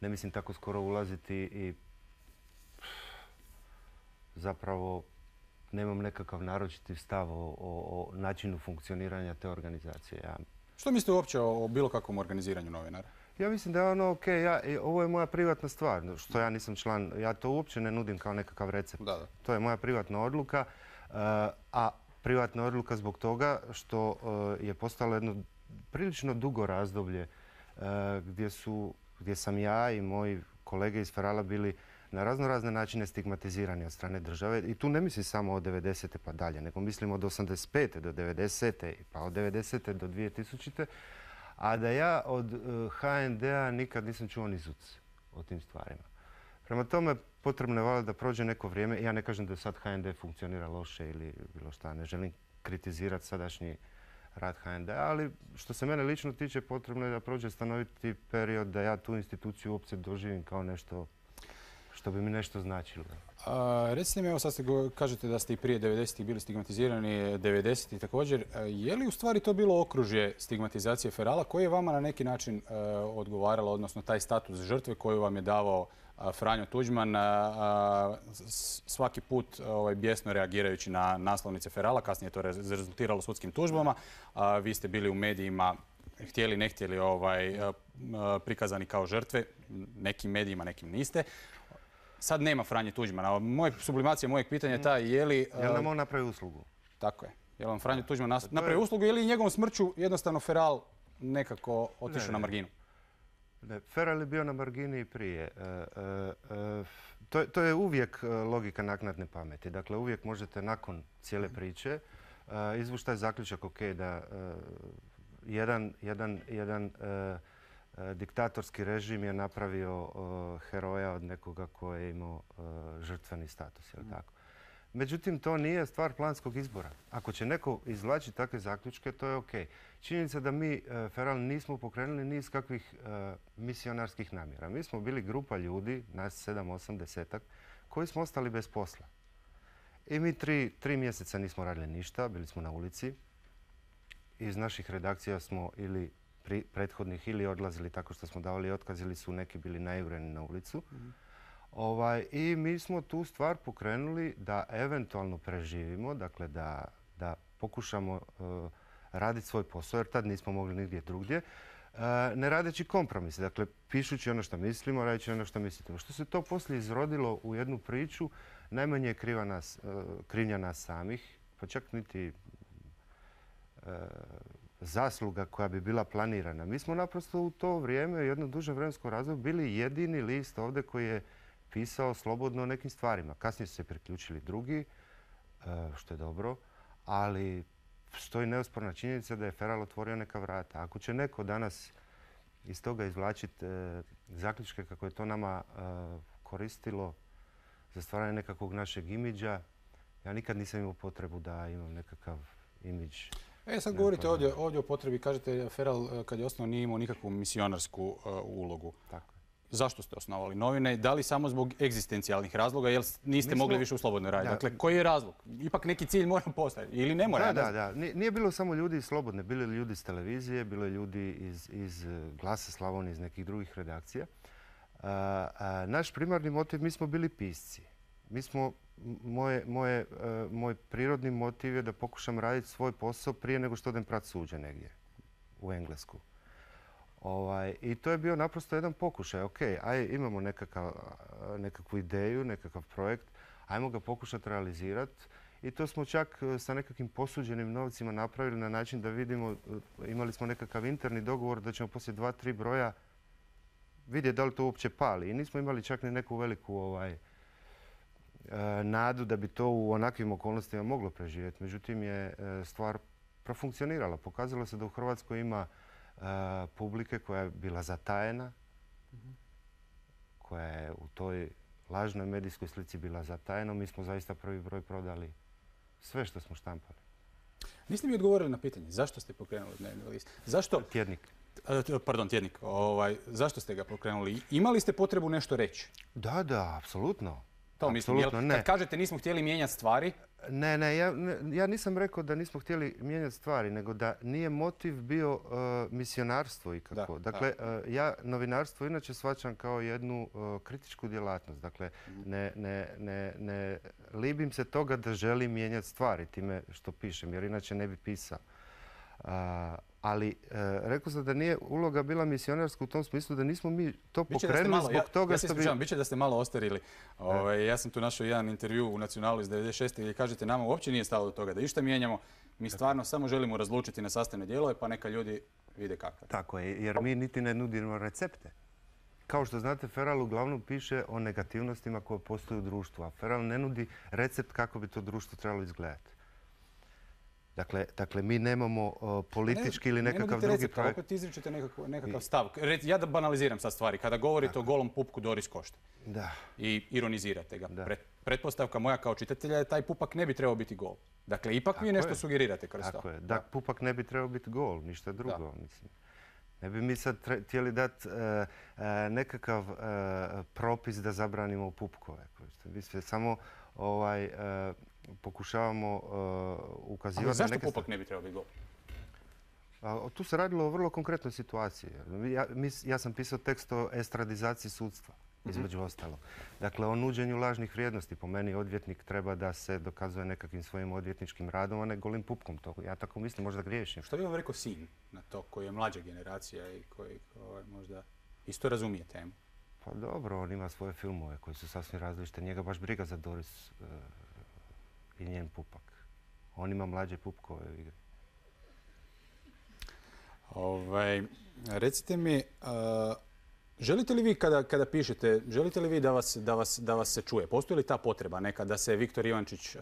S2: Ne mislim tako skoro ulaziti i zapravo nemam nekakav naročiti stav o načinu funkcioniranja te organizacije.
S1: Što mislite uopće o bilo kakvom organiziranju novinara?
S2: Ja mislim da je ono ok, ovo je moja privatna stvar, što ja nisam član, ja to uopće ne nudim kao nekakav recept. To je moja privatna odluka, a privatna odluka zbog toga što je postalo jedno prilično dugo razdoblje gdje sam ja i moji kolege iz Ferala bili na razne načine stigmatizirani od strane države. I tu ne mislim samo od 90. pa dalje, nego mislim od 85. do 90. pa od 90. do 2000. A da ja od HND-a nikad nisam čuo ni zuc o tim stvarima. Prema tome, potrebno je valjda da prođe neko vrijeme. Ja ne kažem da sad HND funkcionira loše ili bilo šta. Ne želim kritizirati sadašnji rad HND-a, ali što se mene lično tiče, potrebno je da prođe stanoviti period da ja tu instituciju uopće doživim kao nešto što bi mi nešto značilo.
S1: Recite mi, evo sad kažete da ste i prije 90-ih bili stigmatizirani, 90-ih također. Je li u stvari to bilo okružje stigmatizacije Ferala koje je vama na neki način odgovaralo, odnosno taj status žrtve koju vam je davao Franjo Tuđman, svaki put bijesno reagirajući na naslovnice Ferala, kasnije je to rezultiralo sudskim tužbama. Vi ste bili u medijima, htjeli, ne htjeli, prikazani kao žrtve, nekim medijima, nekim niste. Sad nema Franje Tuđmana. Sublimacija mojeg pitanja je ta je li...
S2: Je li nam on napravi uslugu?
S1: Tako je. Je li vam Franjo Tuđman napravi uslugu ili njegovom smrću jednostavno Feral nekako otišao na marginu?
S2: Ne, Feral je bio na margini i prije. To je uvijek logika naknadne pameti. Dakle, uvijek možete nakon cijele priče izvući taj zaključak, ok, da jedan diktatorski režim je napravio heroja od nekoga koji je imao žrtveni status, je li tako? Međutim, to nije stvar planskog izbora. Ako će neko izvlačiti takve zaključke, to je ok. Činjenica da mi Feral nismo pokrenuli niz kakvih misionarskih namjera. Mi smo bili grupa ljudi, nas 7, 8, 10-ak, koji smo ostali bez posla. I mi 3 mjeseca nismo radili ništa, bili smo na ulici. Iz naših redakcija smo ili prethodnih ili odlazili tako što smo davali otkaz ili su neki bili najureni na ulicu. I mi smo tu stvar pokrenuli da eventualno preživimo, dakle da pokušamo raditi svoj posao, jer tad nismo mogli nigdje drugdje, ne radeći kompromise. Dakle, pišući ono što mislimo, radeći ono što mislimo. Što se to poslije izrodilo u jednu priču, najmanje je krivnja nas samih, pa čak niti zasluga koja bi bila planirana. Mi smo naprosto u to vrijeme, jedno duže vremensko razdoblje, bili jedini list ovdje koji je pisao slobodno o nekim stvarima. Kasnije su se priključili drugi, što je dobro, ali stoji neosporna činjenica da je Feral otvorio neka vrata. Ako će neko danas iz toga izvlačiti zaključke kako je to nama koristilo za stvaranje nekakvog našeg imidža, ja nikad nisam imao potrebu da imam nekakav imidž.
S1: Sad govorite ovdje o potrebi, kažete Feral kad je osnovno nije imao nikakvu misionarsku ulogu.
S2: Tako.
S1: Zašto ste osnovali novine? Da li samo zbog egzistencijalnih razloga, jer niste mogli više u slobodnoj raditi? Dakle, koji je razlog? Ipak neki cilj mora postojati ili ne mora?
S2: Da. Nije bilo samo ljudi iz Slobodne, bili ljudi iz televizije, bilo je ljudi iz Glasa Slavonije, iz nekih drugih redakcija. Naš primarni motiv, mi smo bili pisci. Moj prirodni motiv je da pokušam raditi svoj posao prije nego što odem prat suđe negdje u Englesku. I to je bio naprosto jedan pokušaj. Ok, imamo nekakvu ideju, nekakav projekt, ajmo ga pokušati realizirati. I to smo čak sa nekakvim posuđenim novcima napravili na način da vidimo, imali smo nekakav interni dogovor da ćemo poslije 2-3 broja vidjeti da li to uopće pali. I nismo imali čak ni neku veliku nadu da bi to u onakvim okolnostima moglo preživjeti. Međutim je stvar profunkcionirala. Pokazalo se da u Hrvatskoj ima publike koja je bila zatajena, koja je u toj lažnoj medijskoj slici bila zatajena. Mi smo zaista prvi broj prodali sve što smo štampali.
S1: Niste mi odgovorili na pitanje zašto ste pokrenuli dnevni list? Zašto?
S2: Tjednik.
S1: Pardon, tjednik. Zašto ste ga pokrenuli? Imali ste potrebu nešto reći?
S2: Da, apsolutno.
S1: To mislim, kad kažete nismo htjeli mijenjati stvari?
S2: Ne, ja nisam rekao da nismo htjeli mijenjati stvari, nego da nije motiv bio misionarstvo ikako. Dakle, ja novinarstvo inače shvaćam kao jednu kritičku djelatnost. Dakle, ne libim se toga da želim mijenjati stvari time što pišem, jer inače ne bi pisao. Ali rekao sam da nije uloga bila misionarska u tom smislu da nismo mi to pokrenuli zbog toga što bi...
S1: Biće da ste malo ostarili. Ja sam tu našao jedan intervju u Nacionalu iz 96. gdje kažete nama uopće nije stalo do toga da išta mijenjamo. Mi stvarno samo želimo razlučiti na sastavne dijelove pa neka ljudi vide kako.
S2: Tako je, jer mi niti ne nudimo recepte. Kao što znate, Feral uglavnom piše o negativnostima koje postoje u društvu, a Feral ne nudi recept kako bi to društvo trebalo izgledati. Dakle, mi nemamo politički ili nekakav drugi projekt.
S1: Opet izričete nekakav stav. Ja da banaliziram sad stvari. Kada govorite o golom pupku Doris Košte i ironizirate ga. Pretpostavka moja kao čitatelja je taj pupak ne bi trebao biti gol. Dakle, ipak mi nešto sugerirate kroz to.
S2: Tako je. Da, pupak ne bi trebao biti gol, ništa drugo. Ne bi mi sad htjeli dati nekakav propis da zabranimo pupkove. Mi sve samo pokušavamo ukazivati na neke...
S1: Ali zašto pupak ne bi trebao biti gol?
S2: Tu se radilo o vrlo konkretnoj situaciji. Ja sam pisao tekst o estradizaciji sudstva, između ostalo. Dakle, o nuđenju lažnih vrijednosti. Po meni odvjetnik treba da se dokazuje nekakvim svojim odvjetničkim radom, a ne golim pupkom. Ja tako mislim, možda griješim.
S1: Što bi vam rekao sin na to, koji je mlađa generacija i koji možda isto razumije temu?
S2: Pa dobro, on ima svoje filmove koji su sasvim različite. Njega baš briga za Doris i njen pupak. On ima mlađe pupkove u igri.
S1: Recite mi, želite li vi kada pišete, želite li vi da vas se čuje? Postoji li ta potreba neka da se Viktor Ivančić,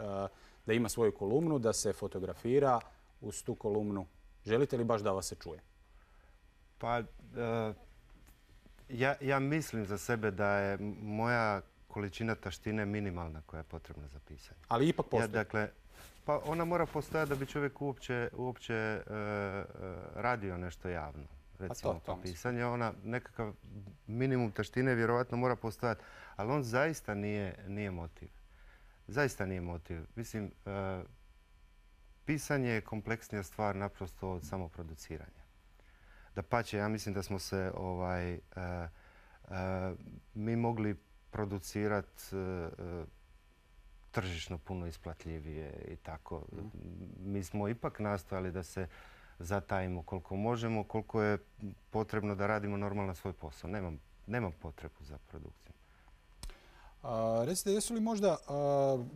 S1: da ima svoju kolumnu, da se fotografira uz tu kolumnu? Želite li baš da vas se čuje?
S2: Pa, ja mislim za sebe da je moja količina taštine minimalna koja je potrebna za pisanje.
S1: Ali ipak postoji?
S2: Dakle, pa ona mora postojati da bi čovjek uopće radio nešto javno. Recimo to pisanje. Ona nekakav minimum taštine vjerovatno mora postojati, ali on zaista nije motiv. Zaista nije motiv. Mislim, pisanje je kompleksnija stvar naprosto od samoproduciranja. Dapače, ja mislim da smo se mi mogli producirati tržišno puno isplatljivije i tako. Mi smo ipak nastojali da se zatajimo koliko možemo, koliko je potrebno da radimo normalno svoj posao. Nemam potrebu za produkciju.
S1: Recite, jesu li možda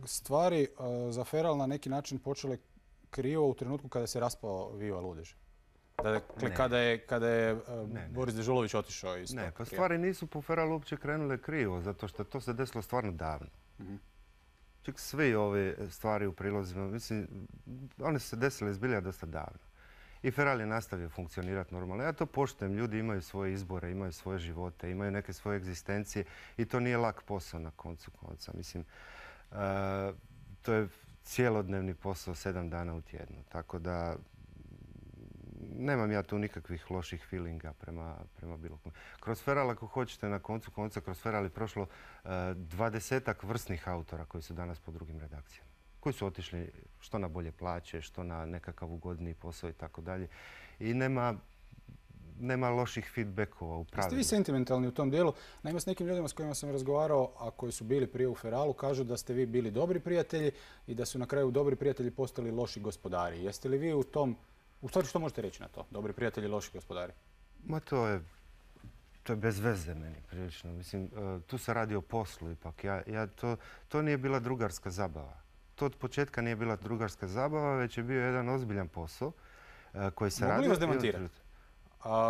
S1: stvari za Feral na neki način počele krivo u trenutku kada se raspao Viva Ludež? Dakle, kada je Boris Dežulović otišao iz
S2: Ne, pa stvari nisu po Feralu uopće krenule krivo, zato što to se desilo stvarno davno. Čak svi ove stvari u prilozima, mislim, one su se desile zbilja dosta davno. I Feral je nastavio funkcionirati normalno. Ja to poštujem, ljudi imaju svoje izbore, imaju svoje živote, imaju neke svoje egzistencije i to nije lak posao na koncu konca. Mislim, to je cijelodnevni posao 7 dana u tjednu, tako da nemam ja tu nikakvih loših feelinga prema bilo kome. Kroz Feral, ako hoćete, na koncu konca, kroz Feral je prošlo 20-ak vrsnih autora koji su danas po drugim redakcijama. Koji su otišli što na bolje plaće, što na nekakav ugodniji posao i tako dalje. I nema loših feedbackova u pravilu.
S1: Ste vi sentimentalni u tom dijelu? Naime, s nekim ljudima s kojima sam razgovarao, a koji su bili prije u Feralu, kažu da ste vi bili dobri prijatelji i da su na kraju dobri prijatelji postali loši gospodari. Jeste li vi u tom... U stvari, što možete reći na to? Dobri prijatelji, loši gospodari?
S2: Ma to je bez veze meni prilično. Mislim, tu se radi o poslu ipak. To nije bila drugarska zabava. To od početka nije bila drugarska zabava, već je bio jedan ozbiljan posao koji se radi...
S1: Mogu li vas demantirati?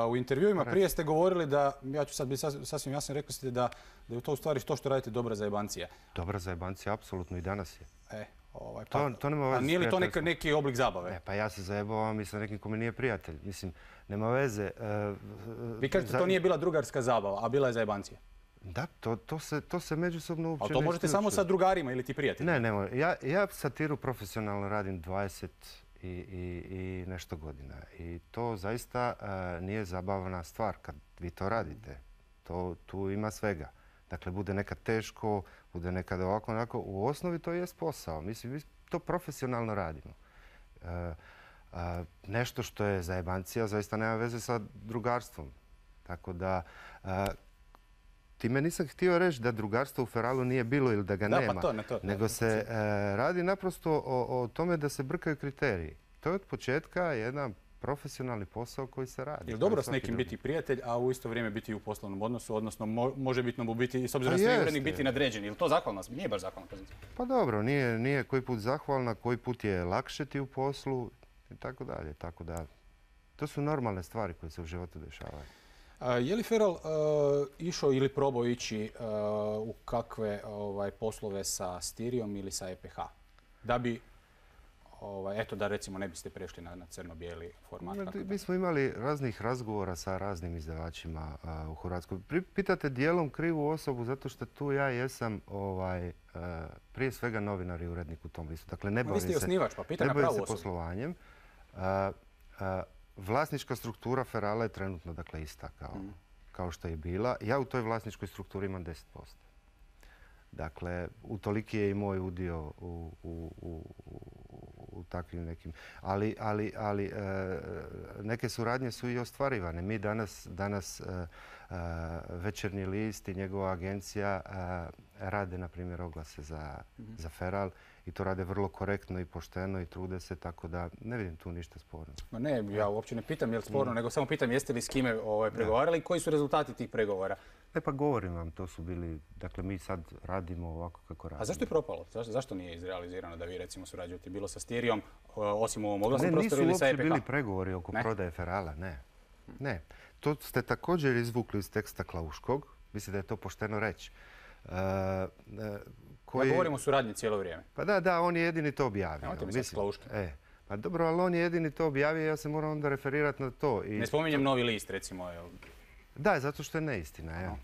S1: U intervjuima prije ste govorili da, ja ću sad biti sasvim jasno, rekli ste da je to u stvari to što radite dobra zajebancija.
S2: Dobra zajebancija, apsolutno, i danas je.
S1: To nema veze. A nije li to neki oblik zabave?
S2: Pa ja se zajebavam i sa nekim ko mi nije prijatelj. Mislim, nema veze.
S1: Vi kažete to nije bila drugarska zabava, a bila je zajebancija.
S2: Da, to se međusobno uopće ne isključuje.
S1: Ali to možete samo sa drugarima ili ti prijateljima?
S2: Ne. Ja satiru profesionalno radim 20 i nešto godina. I to zaista nije zabavna stvar kad vi to radite. Tu ima svega. Dakle, bude nekad teško, bude nekad ovako, onako. U osnovi to jest posao. Mislim, mi to profesionalno radimo. Nešto što je zajebancija zaista nema veze sa drugarstvom. Tako da, time nisam htio reći da drugarstvo u Feralu nije bilo ili da ga nema. Nego se radi naprosto o tome da se brkaju kriteriji. To je od početka jedan profesionalni posao koji se radi.
S1: Je li dobro s nekim biti prijatelj, a u isto vrijeme biti u poslovnom odnosu, odnosno možebitno mu biti, s obzirom da ste urednik, biti nadređen? Je li to zahvalna? Nije baš zahvalna pozicija.
S2: Pa dobro, nije koji put zahvalna, koji put je lakše ti u poslu i tako dalje. Tako da, to su normalne stvari koje se u životu dešavaju.
S1: Je li Feral išao ili probao ići u kakve poslove sa Stirijom ili sa EPH? Da bi, eto da recimo ne biste prešli na crno-bijeli format.
S2: Mi smo imali raznih razgovora sa raznim izdavačima u Hrvatskoj. Pitate dijelom krivu osobu zato što tu ja jesam prije svega novinar i urednik u tom listu. Dakle, ne bavim se poslovanjem. Vlasnička struktura Ferala je trenutno dakle ista kao što je bila. Ja u toj vlasničkoj strukturi imam 10%. Dakle, utoliki je i moj udio u takvim nekim. Ali neke suradnje su i ostvarivane. Mi danas Večernji list i njegova agencija rade, na primjer, oglase za Feral i to rade vrlo korektno i pošteno i trude se, tako da ne vidim tu ništa sporno.
S1: Ne, ja uopće ne pitam je li sporno, nego samo pitam jeste li s kime pregovarali i koji su rezultati tih pregovora?
S2: Pa govorim vam, to su bili, dakle mi sad radimo ovako kako radimo.
S1: A zašto je propalo? Zašto nije izrealizirano da vi recimo surađujete bilo sa Stirijom, osim u ovom oglasnom prostoru ili sa EPH?
S2: Nisu uopće bili pregovori oko prodaje Ferala, ne. To ste također izvukli iz teksta Klauškog, mislim da je to pošteno reći.
S1: Ja govorim o suradnji cijelo vrijeme.
S2: Pa da, on je jedini to objavio.
S1: Nemojte mi sad s Klauškim.
S2: Pa dobro, ali on je jedini to objavio, ja se moram onda referirati na to.
S1: Ne spominjem Novi list, recimo.
S2: Da, zato što je neistina.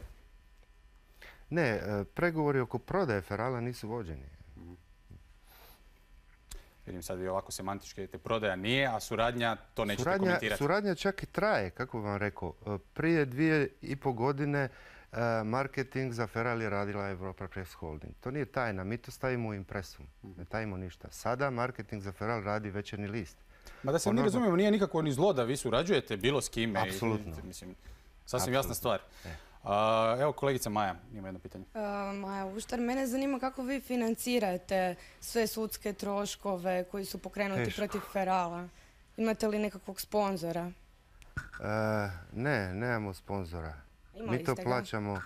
S2: Ne, pregovori oko prodaje Ferala nisu vođeni.
S1: Vidim sad vi ovako semantički, prodaja nije, a suradnja to nećete komentirati.
S2: Suradnja čak i traje, kako vam rekao. Prije 2,5 godine marketing za Feral je radila Europa Press Holding. To nije tajna, mi to stavimo u impresum. Ne tajimo ništa. Sada marketing za Feral radi Večernji list.
S1: Ma da se mi razumijemo, nije nikako ni zlo da vi surađujete bilo s kime.
S2: Apsolutno.
S1: Sasvim jasna stvar. Evo kolegica Maja ima jedno pitanje.
S12: Maja Uštar, mene zanima kako vi financirate sve sudske troškove koji su pokrenuti protiv Ferala. Imate li nekakvog sponzora?
S2: Ne, nemamo sponzora. Mi to plaćamo.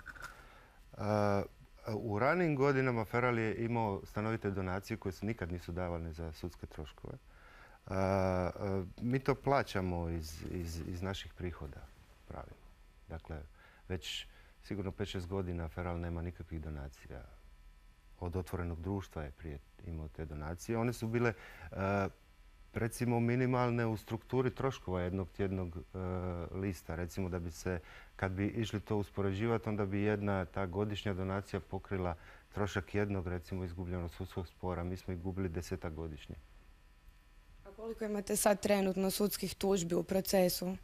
S2: U ranijim godinama Feral je imao stanovite donacije koje se nikad nisu davane za sudske troškove. Mi to plaćamo iz naših prihoda, pravimo. Dakle, već sigurno 5-6 godina Feral nema nikakvih donacija. Od Otvorenog društva je prije imao te donacije. One su bile recimo minimalne u strukturi troškova jednog tjednog lista. Recimo da bi se, kad bi išli to uspoređivati, onda bi jedna ta godišnja donacija pokrila trošak jednog, recimo, izgubljenog sudskog spora. Mi smo ih gubili 10-ak godišnje.
S12: A koliko imate sad trenutno sudskih tužbi u procesu?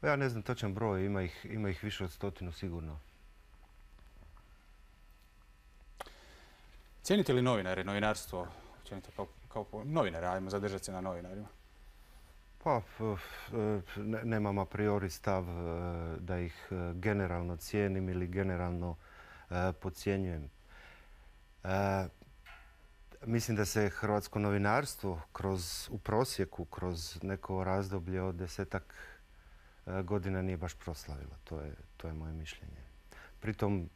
S2: Ja ne znam točan broj, ima ih više od 100 sigurno.
S1: Cijenite li novinare, novinarstvo, općenito kao novinare, ajmo zadržati se na novinarima?
S2: Pa, nemam a priori stav da ih generalno cijenim ili generalno podcjenjujem. Mislim da se hrvatsko novinarstvo u prosjeku kroz neko razdoblje od 10-ak godina nije baš proslavilo. To je moje mišljenje. Pritom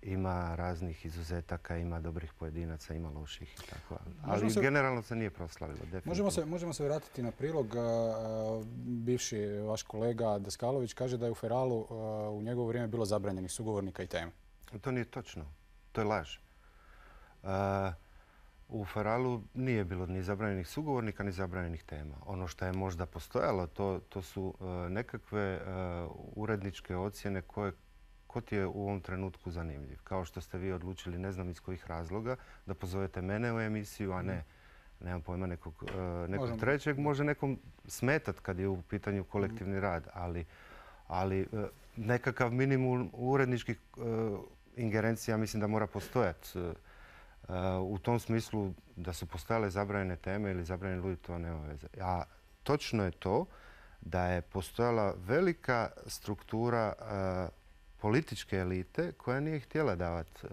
S2: ima raznih izuzetaka, ima dobrih pojedinaca, ima loših i tako. Ali generalno se nije proslavilo, definitivno.
S1: Možemo se vratiti na prilog. Bivši vaš kolega Daskalović kaže da je u Feralu u njegovo vrijeme bilo zabranjenih sugovornika i tema.
S2: To nije točno. To je laž. U Feralu nije bilo ni zabranjenih sugovornika, ni zabranjenih tema. Ono što je možda postojalo, to su nekakve uredničke ocjene ko ti je u ovom trenutku zanimljiv. Kao što ste vi odlučili, ne znam iz kojih razloga, da pozovete mene u emisiju, a ne, nemam pojma, nekog trećeg. Može nekom smetat kad je u pitanju kolektivni rad, ali nekakav minimum uredničkih ingerencija mislim da mora postojati. U tom smislu da su postojale zabranjene teme ili zabranjeni ljudi, to nema veze. A točno je to da je postojala velika struktura političke elite koja nije htjela davati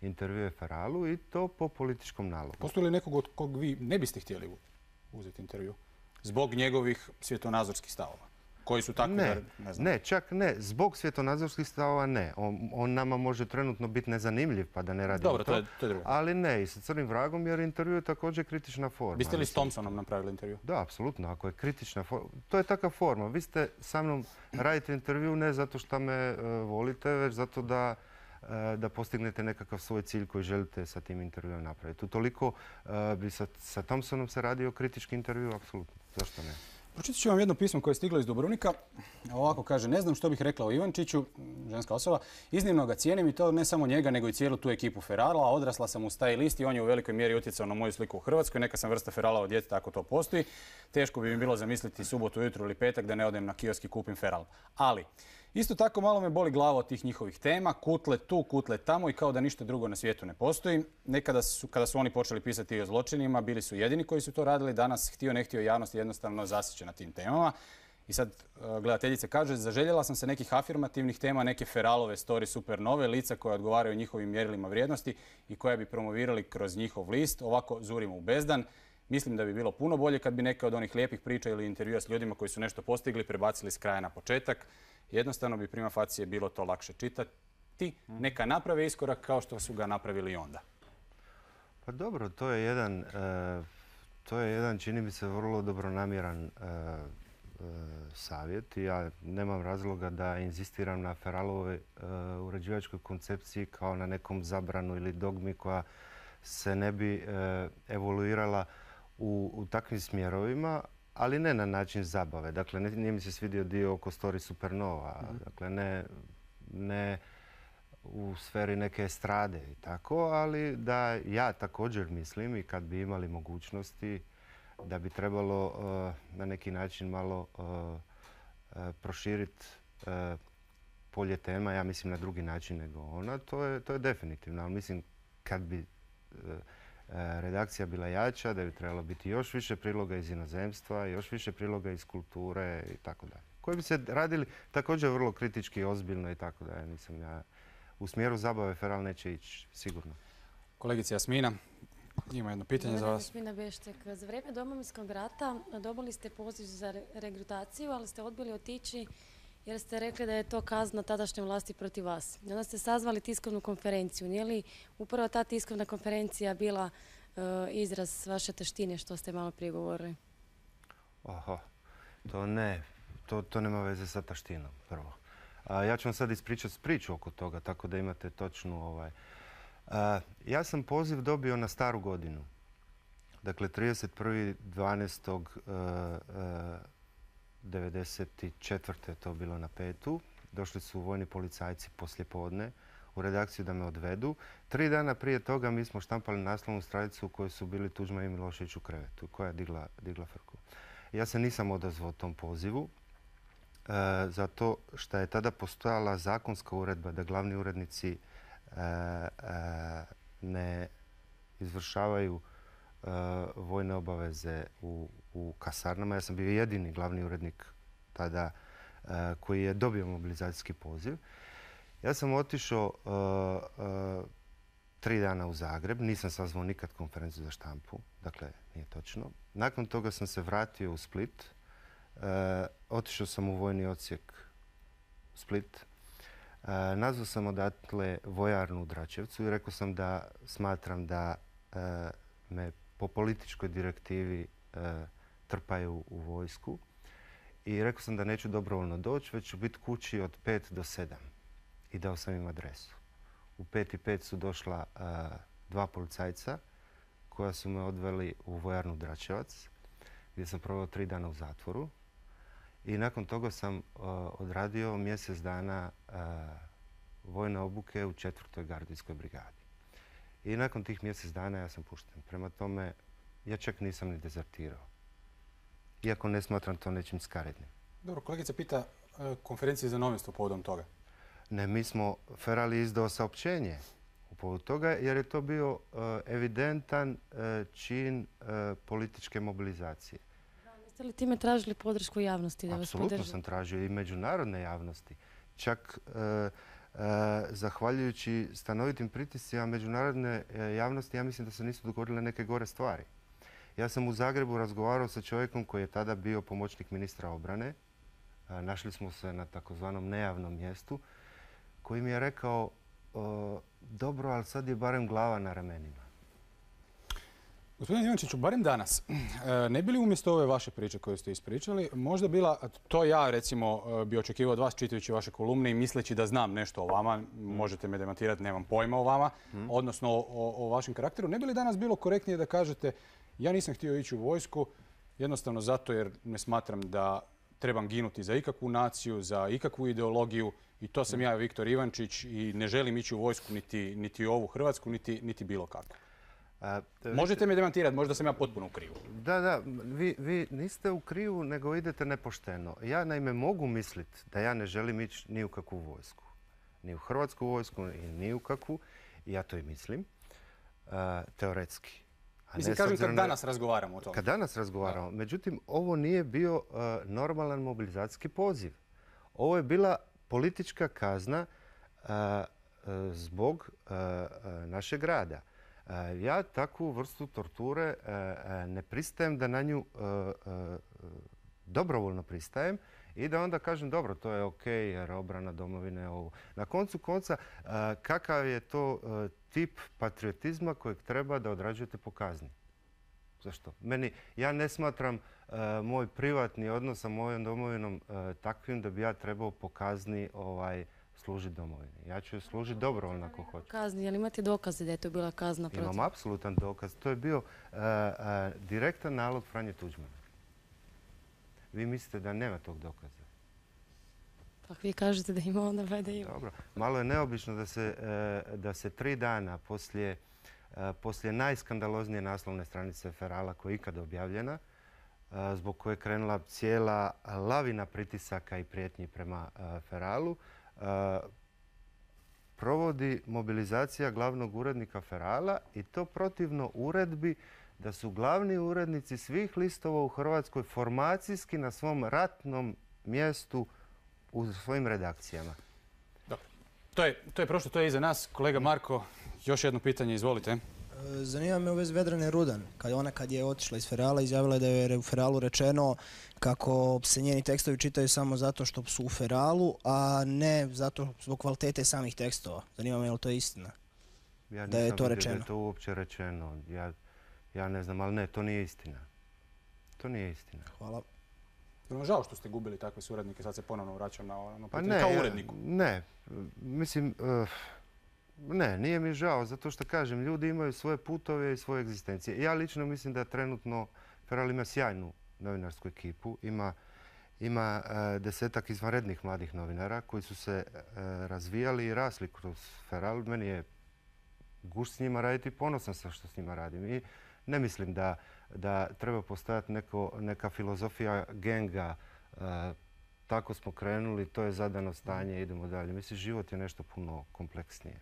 S2: intervjue Feralu i to po političkom nalogu.
S1: Postoji li nekog od kog vi ne biste htjeli uzeti intervju? Zbog njegovih svjetonazorskih stavova? Koji su takvi da ne znam?
S2: Ne, čak ne. Zbog svjetonazorskih stavova ne. On nama može trenutno biti nezanimljiv pa da ne radimo to.
S1: Dobro, to je drugo.
S2: Ali ne, i sa Crnim vragom jer intervju je također kritična forma.
S1: Biste li s Thompsonom napravili intervju?
S2: Da, apsolutno. Ako je kritična forma. To je takva forma. Vi ste sa mnom radite intervju ne zato što me volite, već zato da postignete nekakav svoj cilj koji želite sa tim intervjuom napraviti. Utoliko bi sa Thompsonom se radio kritički intervju, apsolutno. Zašto ne?
S1: Pročitat ću vam jedno pismo koje je stiglo iz Dubrovnika. Ovako kaže, ne znam što bih rekla o Ivančiću, ženska osoba. Iznimno ga cijenim i to ne samo njega, nego i cijelu tu ekipu Ferala. Odrasla sam uz taj list i on je u velikoj mjeri utjecao na moju sliku u Hrvatskoj. Neka sam vrsta Ferala od djeteta ako to postoji. Teško bi mi bilo zamisliti subotu ujutro ili petak da ne odem na kiosk i kupim Feral. Ali, isto tako malo me boli glava od tih njihovih tema. Kutle tu, kutle tamo i kao da ništa drugo na svijetu ne postoji. Nekada kada su oni počeli pisati i o zločinima, bili su jedini koji su to radili. Danas, htio ne htio, javnost jednostavno zasiće na tim temama. I sad gledateljica kaže, zaželjela sam se nekih afirmativnih tema, neke Feralove story supernove, lica koja odgovaraju njihovim mjerilima vrijednosti i koja bi promovirali kroz njihov list. Ovako zurimo u bezdan. Mislim da bi bilo puno bolje kad bi neke od onih lijepih priča ili intervjua s ljudima koji su nešto postigli prebacili s kraja na početak. Jednostavno bi prima facie bilo to lakše čitati. Neka naprave iskorak kao što su ga napravili onda.
S2: Pa dobro, to je jedan čini mi se vrlo dobronamjeran savjet i ja nemam razloga da inzistiram na Feralovoj uređivačkoj koncepciji kao na nekom zabranu ili dogmi koja se ne bi evoluirala u takvim smjerovima, ali ne na način zabave. Dakle, nije mi se svidio dio oko story supernova. Dakle, ne u sferi neke estrade i tako, ali da ja također mislim i kad bi imali mogućnosti da bi trebalo na neki način malo proširiti polje tema, ja mislim na drugi način nego ona, to je definitivno. Ali mislim kad bi redakcija bila jača, da bi trebalo biti još više priloga iz inozemstva, još više priloga iz kulture i tako dalje. Koji bi se radili također vrlo kritički, ozbiljno i tako dalje. Nisam ja u smjeru zabave Feral neće ići, sigurno.
S1: Kolegica Jasmina, ima jedno pitanje za vas.
S13: Jasmina Beštek, za vrijeme Domovinskog rata dobili ste poziv za regrutaciju, ali ste odbili otići jer ste rekli da je to kazna tadašnje vlasti protiv vas. I onda ste sazvali tiskovnu konferenciju. Nije li upravo ta tiskovna konferencija bila izraz vaše taštine što ste malo prije govorili?
S2: Oho, to ne. To nema veze sa taštinom, prvo. Ja ću vam sad ispričati priču oko toga, tako da imate točnu... Ja sam poziv dobio na staru godinu. Dakle, 31.12.1994. je to bilo na 5. Došli su vojni policajci poslijepodne u redakciju da me odvedu. 3 dana prije toga mi smo štampali naslovnu stranicu u kojoj su bili Tuđman i Milošević u krevetu, koja je digla frku. Ja se nisam odazvao tom pozivu, zato što je tada postojala zakonska uredba da glavni urednici ne izvršavaju vojne obaveze u kasarnama. Ja sam bio jedini glavni urednik tada koji je dobio mobilizacijski poziv. Ja sam otišao 3 dana u Zagreb, nisam sazvao nikad konferenciju za štampu, dakle nije točno. Nakon toga sam se vratio u Split, otišao sam u vojni odsjek Split, nazvao sam odatle vojarnu u Dračevcu i rekao sam da smatram da me po političkoj direktivi trpaju u vojsku i rekao sam da neću dobrovoljno doći, već ću biti kući od 5 do 7 i dao sam im adresu. U 5:05 su došla 2 policajca koja su me odveli u vojarnu Dračevac gdje sam proveo 3 dana u zatvoru i nakon toga sam odradio mjesec dana vojne obuke u 4. gardijskoj brigadi. I nakon tih mjesec dana ja sam pušten. Prema tome, ja čak nisam ni dezertirao. Iako ne smatram to nečim skarednim.
S1: Dobro, kolegica pita konferencije za novinstvo povodom toga.
S2: Ne, mi smo, Feral je izdao saopćenje u povodu toga jer je to bio evidentan čin političke mobilizacije.
S13: Jeste li time tražili podršku javnosti da vas podrži?
S2: Apsolutno sam tražio i međunarodne javnosti. Čak zahvaljujući stanovitim pritiscima međunarodne javnosti, ja mislim da se nisu dogodile neke gore stvari. Ja sam u Zagrebu razgovarao sa čovjekom koji je tada bio pomoćnik ministra obrane. Našli smo se na takozvanom nejavnom mjestu koji mi je rekao dobro, ali sad je barem glava na ramenima.
S1: Gospodine Ivančiću, barem danas, ne bi li umjesto ove vaše priče koje ste ispričali, možda bila, to ja recimo bi očekivao od vas čitajući vaše kolumne i misleći da znam nešto o vama, možete me demantirati, nemam pojma o vama, odnosno o vašem karakteru, ne bi li danas bilo korektnije da kažete ja nisam htio ići u vojsku jednostavno zato jer ne smatram da trebam ginuti za ikakvu naciju, za ikakvu ideologiju i to sam ja, Viktor Ivančić, i ne želim ići u vojsku niti ovu Hrvatsku, niti bilo kako. Možete me demantirati, možda sam ja potpuno u krivu.
S2: Da, vi niste u krivu, nego idete nepošteno. Ja naime mogu misliti da ja ne želim ići ni u kakvu vojsku. Ni u hrvatsku vojsku, ni u kakvu. I ja to i mislim. Teoretski.
S1: Mislim, kažem kad danas razgovaramo o tome.
S2: Kad danas razgovaramo. Međutim, ovo nije bio normalan mobilizacijski poziv. Ovo je bila politička kazna zbog našeg rada. Ja takvu vrstu torture ne pristajem da na nju dobrovoljno pristajem i da onda kažem dobro, to je ok jer obrana domovine je ovo. Na koncu konca, kakav je to tip patriotizma kojeg treba da odrađujete po kazni? Zašto? Ja ne smatram moj privatni odnos sa mojom domovinom takvim da bi ja trebao po kazni služiti domovini. Ja ću služiti dobrovoljno ako hoću.
S13: Kazni, jel imate dokaze da je to bila kazna protiv?
S2: Imam apsolutan dokaz. To je bio direktan nalog Franje Tuđmana. Vi mislite da nema tog dokaza?
S13: Pa vi kažete da ima, onda valjda ima.
S2: Dobro. Malo je neobično da se 3 dana poslije najskandaloznije naslovne stranice Ferala koja je ikada objavljena, zbog koje je krenula cijela lavina pritisaka i prijetnji prema Feralu, provodi mobilizacija glavnog urednika Ferala i to protivno uredbi da su glavni urednici svih listova u Hrvatskoj formacijski na svom ratnom mjestu u svojim redakcijama.
S1: Dobro. To je prošlo, to je iza nas. Kolega Marko, još jedno pitanje, izvolite.
S14: Zanima me u vezi Vedrane Rudan. Kad je otišla iz Ferala, izjavila je da je u Feralu rečeno kako se njeni tekstovi čitaju samo zato što su u Feralu, a ne zato zbog kvalitete samih tekstova. Zanima me je li to istina?
S2: Ja nisam vidio da je to uopće rečeno. Ja ne znam, ali ne, to nije istina. To nije istina.
S14: Hvala.
S1: Žao što ste gubili takve suradnike, sad se ponovno vraćam na ono
S2: Pa
S1: pitanje kao uredniku.
S2: Ne, mislim, ne, nije mi žao, zato što kažem, ljudi imaju svoje putove i svoje egzistencije. Ja lično mislim da trenutno Feral ima sjajnu novinarsku ekipu, ima 10-ak izvanrednih mladih novinara koji su se razvijali i rasli kroz Feral. Meni je gušt s njima raditi i ponosan sam što s njima radim. I ne mislim da treba postojati neka filozofija genga. Tako smo krenuli, to je zadano stanje, idemo dalje. Mislim, život je nešto puno kompleksnije.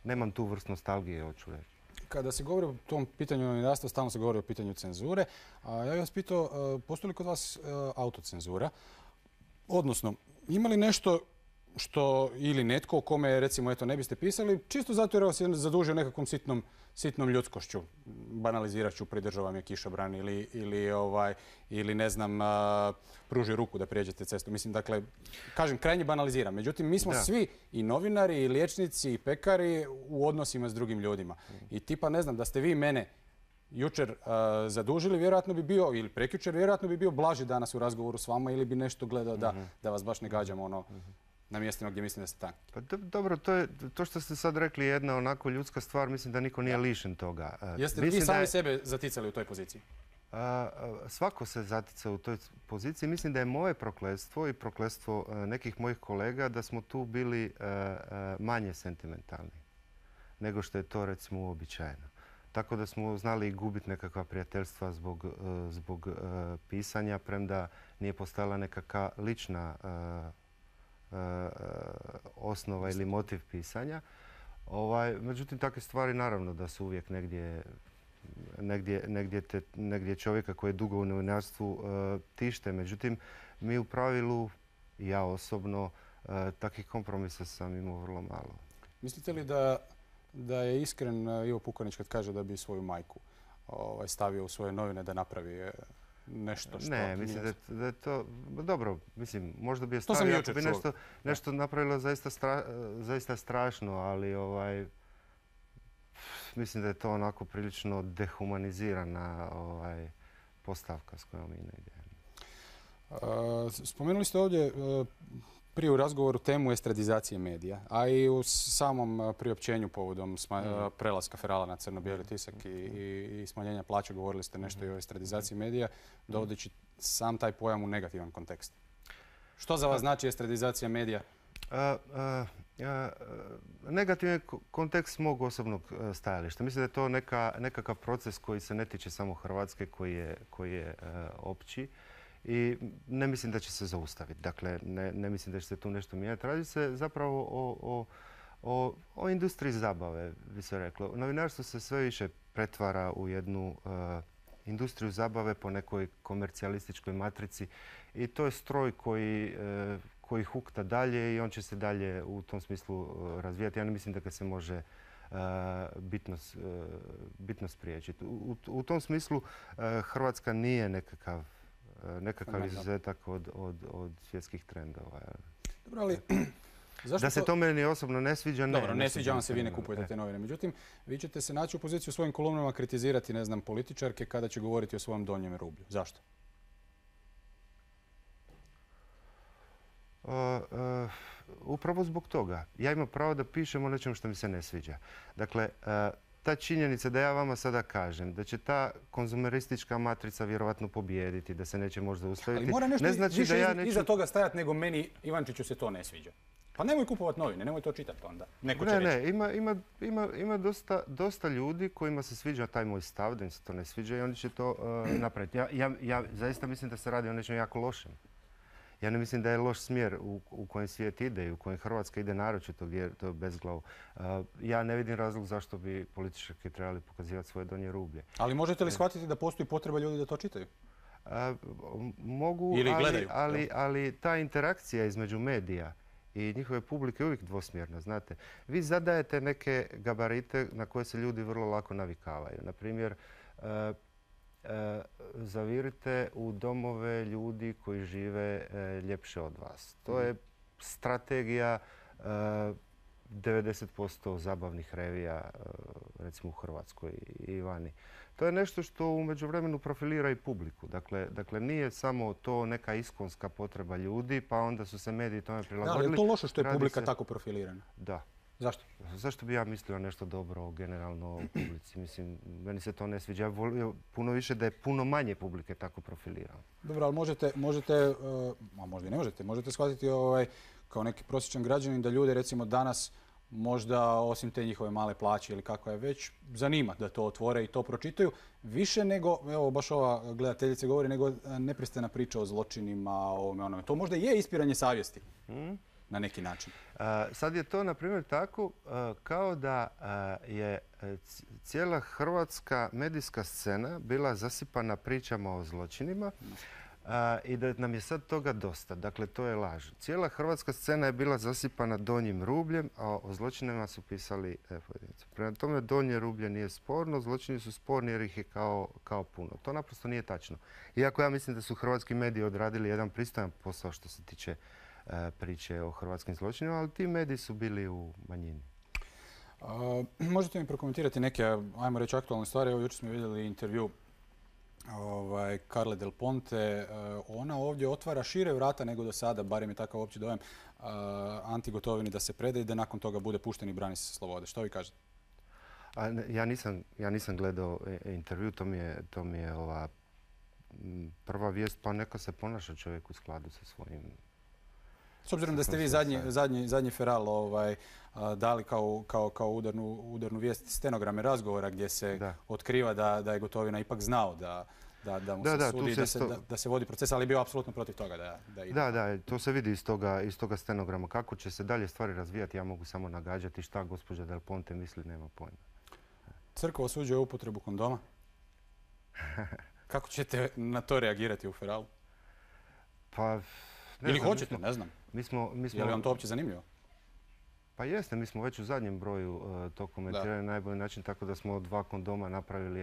S2: Nemam tu vrst nostalgije, hoću reći.
S1: Kada se govori o tom pitanju novinarstva, stalno se govori o pitanju cenzure. Ja bih vas pitao, postoji li kod vas autocenzura? Odnosno, ima li nešto što ili netko o kome, recimo, eto, ne biste pisali, čisto zato jer vas je zadužio nekakvom sitnom ljudskošću. Banalizirat ću, pridržava je kišobran ili ne znam, pruži ruku da prijeđete cestu. Mislim, dakle, kažem, krajnje banaliziram. Međutim, mi smo svi i novinari, i liječnici, i pekari u odnosima s drugim ljudima. I tipa, ne znam, da ste vi mene jučer zadužili, vjerojatno bi bio, ili prekjučer, vjerojatno bi bio blaži danas u razgovoru s vama ili bi nešto gledao da vas baš ne gađamo ono na mjestima gdje mislim da ste tanki.
S2: Pa dobro, to što ste sad rekli je jedna onako ljudska stvar, mislim da niko nije lišen toga.
S1: Jeste vi sami sebe zaticali u toj poziciji?
S2: Svako se zatica u toj poziciji. Mislim da je moje prokletstvo i prokletstvo nekih mojih kolega da smo tu bili manje sentimentalni nego što je to recimo uobičajeno. Tako da smo znali gubiti nekakva prijateljstva zbog pisanja, premda nije postojala nekakva lična osnova ili motiv pisanja. Međutim, takve stvari naravno da su uvijek negdje čovjeka koji je dugo u novinarstvu tište. Međutim, mi u pravilu, ja osobno, takvih kompromisa sam imao vrlo malo.
S1: Mislite li da je iskren Ivo Pukanić kad kaže da bi svoju majku stavio u svoje novine da napravi nešto što...
S2: Ne, mislim da je to... Dobro, mislim, možda bi je stavio ako bi nešto napravilo zaista strašno, ali mislim da je to onako prilično dehumanizirana postavka s kojom mi ne idemo.
S1: Spomenuli ste ovdje prije u razgovoru temu estradizacije medija, a i u samom priopćenju povodom prelaska Ferala na crno-bijeli tisak i smanjenja plaća govorili ste nešto i o estradizaciji medija, dovodeći sam taj pojam u negativan kontekst. Što za vas znači estradizacija medija?
S2: Negativan kontekst mog osobnog stajališta. Mislim da je to nekakav proces koji se ne tiče samo Hrvatske, koji je opći. I ne mislim da će se zaustaviti. Dakle, ne mislim da će se tu nešto mijenjati. Radi se zapravo o industriji zabave, bi se reklo. Novinarstvo se sve više pretvara u jednu industriju zabave po nekoj komercijalističkoj matrici i to je stroj koji hukta dalje i on će se dalje u tom smislu razvijati. Ja ne mislim da ga se može bitno spriječiti. U tom smislu Hrvatska nije nekakav izuzetak od svjetskih trendova.
S1: Dobro, ali
S2: da se to meni osobno ne sviđa, ne.
S1: Dobro, ne sviđa vam se, vi ne kupujete te novine. Međutim, vi ćete se naći u poziciju u svojim kolumnama kritizirati, ne znam, političarke kada će govoriti o svojem donjem rublju. Zašto?
S2: Upravo zbog toga. Ja imam pravo da pišem o nečem što mi se ne sviđa. Dakle, ta činjenica da ja vama sada kažem da će ta konzumeristička matrica vjerovatno pobijediti, da se neće možda ustaviti.
S1: Ali mora nešto više iza toga stajati nego meni, Ivančiću, se to ne sviđa. Pa nemoj kupovati novine, nemoj to čitati onda. Neko će reći.
S2: Ima dosta ljudi kojima se sviđa taj moj stav, da im se to ne sviđa i oni će to napraviti. Ja zaista mislim da se radi o nečem jako lošem. Ja ne mislim da je loš smjer u kojem svijet ide i u kojem Hrvatska ide naročito gdje je to bezglavo. Ja ne vidim razlog zašto bi političari trebali pokazivati svoje donje rublje.
S1: Ali možete li shvatiti da postoji potreba ljudi da to čitaju?
S2: Mogu, ali ta interakcija između medija i njihove publike je uvijek dvosmjerna, znate. Vi zadajete neke gabarite na koje se ljudi vrlo lako navikavaju. Naprimjer, zavirite u domove ljudi koji žive ljepše od vas. To je strategija 90% zabavnih revija, recimo u Hrvatskoj i vani. To je nešto što u međuvremenu profilira i publiku. Dakle, nije samo to neka iskonska potreba ljudi, pa onda su se mediji tome prilagodili.
S15: Da, ali je to loše što je publika tako profilirana?
S2: Da.
S15: Zašto?
S2: Zašto bi ja mislio nešto dobro generalno u publici? Mislim, meni se to ne sviđa. Ja bih volio puno više da je puno manje publike tako profilirano.
S15: Dobro, ali a možda i ne možete shvatiti kao neki prosječan građanin da ljude recimo danas možda osim te njihove male plaće ili kako je već, zanima da to otvore i to pročitaju. Više nego, evo baš ova gledateljica govori, nego neprestana priča o zločinima, o ovome onome. To možda je ispiranje savjesti na neki način.
S2: Sad je to, na primjer, tako kao da je cijela hrvatska medijska scena bila zasipana pričama o zločinima i da nam je sad toga dosta. Dakle, to je laž. Cijela hrvatska scena je bila zasipana donjim rubljem, a o zločinima su pisali pojedinci. Prema tome, donje rublje nije sporno, zločini su sporni jer ih je kao puno. To naprosto nije tačno. Iako ja mislim da su hrvatski mediji odradili jedan pristojan posao što se tiče priče o hrvatskim zločinima, ali ti mediji su bili u manjini.
S15: Možete mi prokomentirati neke, ajmo reći, aktualne stvari? Evo, jučer smo vidjeli intervju Carle Del Ponte. Ona ovdje otvara šire vrata nego do sada, barem je takav opći dojam, Anti Gotovini da se preda i da nakon toga bude pušten i brani se slobode. Što vi kažete?
S2: Ja nisam gledao intervju, to mi je ova prva vijest, pa neka se ponaša čovjek u skladu sa svojim...
S15: S obzirom da ste vi zadnji feral dali kao udarnu vijest stenograme razgovora gdje se otkriva da je Gotovina ipak znao da mu se sudi, da se vodi proces, ali je bio apsolutno protiv toga da ide.
S2: Da, to se vidi iz toga stenograma. Kako će se dalje stvari razvijati, ja mogu samo nagađati šta gospođa Del Ponte misli, nema pojma.
S15: Crkva osuđuje upotrebu kondoma. Kako ćete na to reagirati u feralu?
S2: Pa...
S15: Ili hoćete, ne znam. Je li vam to uopće zanimljivo?
S2: Pa jeste, mi smo već u zadnjem broju to komentirali na najbolji način, tako da smo od 2 kondoma napravili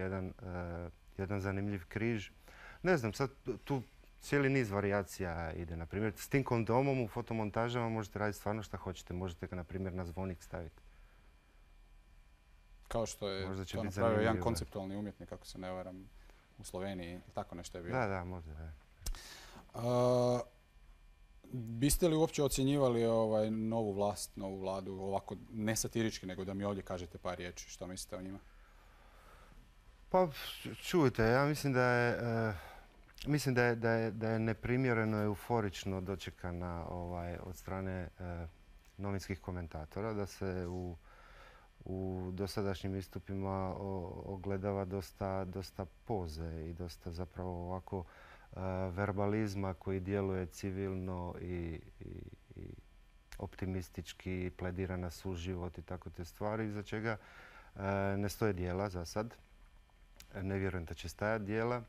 S2: jedan zanimljiv križ. Ne znam, sad tu cijeli niz varijacija ide. Na primjer, s tim kondomom u fotomontažama možete raditi stvarno šta hoćete. Možete ga, na primjer, na zvonik staviti.
S15: Kao što je to napravio jedan konceptualni umjetnik, ako se ne varam, u Sloveniji. Tako nešto je bilo.
S2: Da, možda.
S15: Biste li uopće ocjenjivali novu vlast, novu vladu, ovako ne satirički, nego da mi ovdje kažete par riječi? Što mislite o njima?
S2: Pa čujte, ja mislim da je neprimjereno euforično dočekana od strane novinskih komentatora, da se u dosadašnjim istupima ogledava dosta poze i dosta zapravo ovako verbalizma koji djeluje civilno i optimistički, pledira na suživot i tako te stvari, iza čega ne stoje djela za sad. Ne vjerujem da će stajati djela.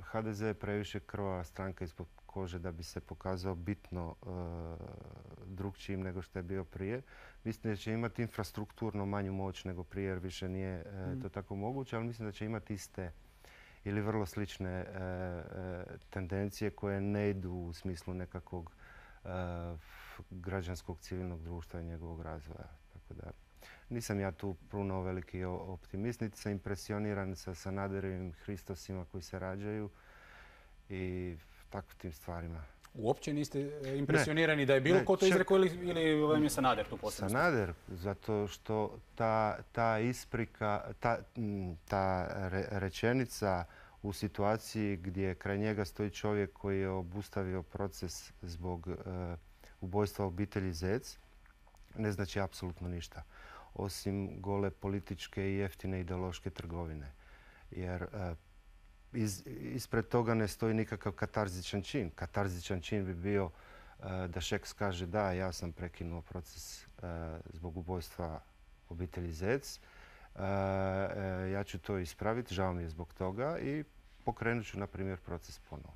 S2: HDZ je previše krvava stranka ispod kože da bi se pokazao bitno drukčijim nego što je bio prije. Mislim da će imati infrastrukturno manju moć nego prije jer više nije to tako moguće, ali mislim da će imati iste ili vrlo slične tendencije koje ne idu u smislu nekakvog građanskog civilnog društva i njegovog razvoja. Tako da nisam ja tu puno veliki optimist, niti sam impresioniran sa Sanaderovim Hristosima koji se rađaju i tako tim stvarima.
S15: Uopće niste impresionirani da je bilo ko to izrekao ili vam je Sanader tu posebno?
S2: Sanader, zato što ta isprika, ta rečenica u situaciji gdje kraj njega stoji čovjek koji je obustavio proces zbog ubojstva obitelji Zec, ne znači apsolutno ništa. Osim gole političke i jeftine ideološke trgovine. Jer ispred toga ne stoji nikakav katarzičan čin. Katarzičan čin bi bio da Šeks kaže da, ja sam prekinuo proces zbog ubojstva obitelji Zec. Ja ću to ispraviti, žao mi je zbog toga i pokrenut ću, na primjer, proces ponovo.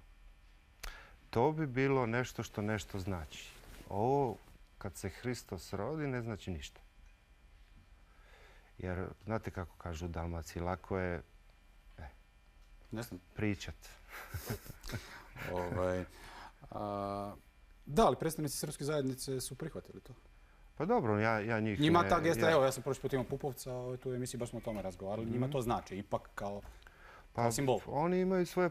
S2: To bi bilo nešto što nešto znači. Ovo, kad se Hristos rodi, ne znači ništa. Jer, znate kako kažu u Dalmaciji, lako je pričat.
S15: Da, ali predstavnici srpske zajednice su prihvatili to.
S2: Pa dobro, ja njih...
S15: Njima ta gesta, evo, ja sam prošli put imao Pupovca, tu u emisiji baš smo o tome razgovarali, njima to znači, ipak kao simbol.
S2: Oni imaju svoje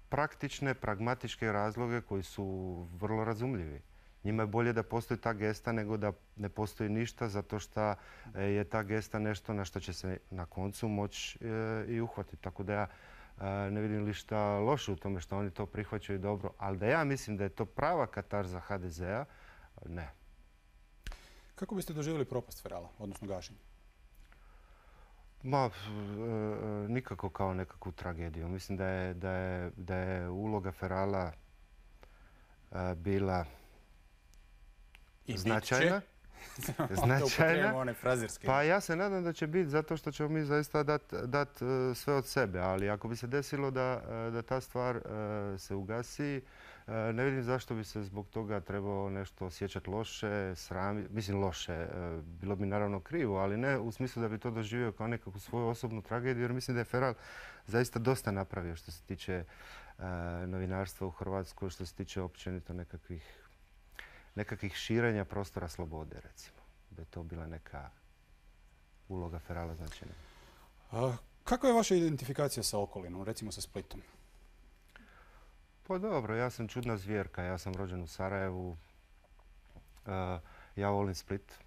S2: praktične, pragmatičke razloge koji su vrlo razumljivi. Njima je bolje da postoji ta gesta nego da ne postoji ništa, zato što je ta gesta nešto na što će se na koncu moći i uhvatiti. Tako da ja ne vidim ništa loše u tome što oni to prihvaćaju dobro, ali da ja mislim da je to prava katarza HDZ-a, ne.
S15: Kako biste doživjeli propast Ferala, odnosno gašenje?
S2: Nikako kao nekakvu tragediju. Mislim da je uloga Ferala bila značajna. Pa ja se nadam da će biti zato što ćemo mi zaista dati sve od sebe. Ali ako bi se desilo da ta stvar se ugasi, ne vidim zašto bi se zbog toga trebao nešto osjećati loše, mislim loše. Bilo bi naravno krivo, ali ne u smislu da bi to doživio kao nekakvu svoju osobnu tragediju, jer mislim da je Feral zaista dosta napravio što se tiče novinarstva u Hrvatskoj, što se tiče općenito nekakvih širenja prostora slobode, recimo. Da je to bila neka uloga Ferala značajna.
S15: Kako je vaša identifikacija sa okolinom, recimo sa Splitom?
S2: Pa dobro, ja sam čudna zvjerka. Ja sam rođen u Sarajevu. Ja volim Split.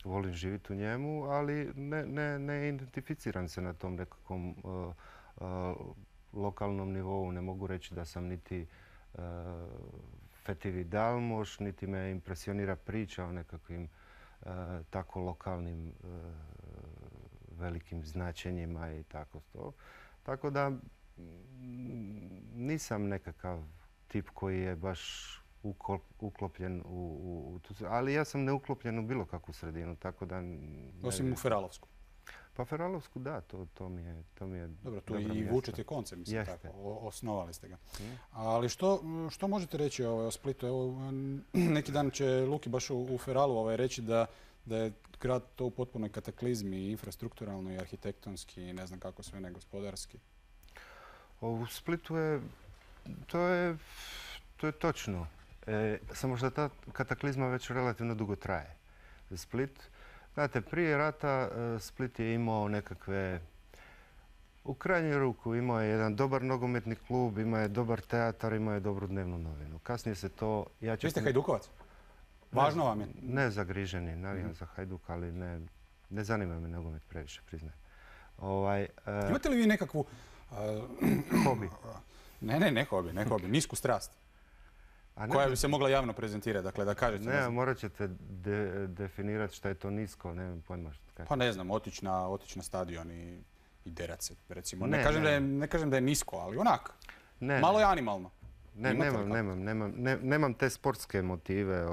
S2: Volim živjeti u njemu, ali ne identificiram se na tom nekakvom lokalnom nivou. Ne mogu reći da sam niti fetivi dalmoš, niti me impresionira priča o nekakvim tako lokalnim velikim značenjima i tako to. Tako da nisam nekakav tip koji je baš uklopljen u tu, ali ja sam neuklopljen u bilo kakvu sredinu, tako da...
S15: Osim u Feralovsku.
S2: Pa Feralovsku, da, to mi je...
S15: Dobro, tu i vučete konce, mislim tako, osnovali ste ga. Ali što možete reći o Splitu? Evo, neki dan će Luki baš u Feralu reći da je grad to u potpunoj kataklizmi, infrastrukturalno i arhitektonski i ne znam kako sve ne gospodarski.
S2: U Splitu to je točno. Samo što ta kataklizma već relativno dugo traje. Split, znate, prije rata Split je imao nekakve, u krajnju ruku imao je jedan dobar nogometni klub, imao je dobar teatar, imao je dobru dnevnu novinu. Kasnije se to...
S15: Vi ste Hajdukovac? Važno vam je?
S2: Ne zagriženi, navijam za Hajduk, ali ne zanima me nogomet previše, priznajem.
S15: Imate li vi nekakvu...
S2: Hobi?
S15: Ne hobi, nisku strast. Koja bi se mogla javno prezentirati, dakle da kažete...
S2: Ne, morat ćete definirati šta je to nisko, nemam pojma što kažete.
S15: Pa ne znam, otići na stadion i derat se, recimo. Ne kažem da je nisko, ali onak, malo je animalno.
S2: Nemam te sportske motive,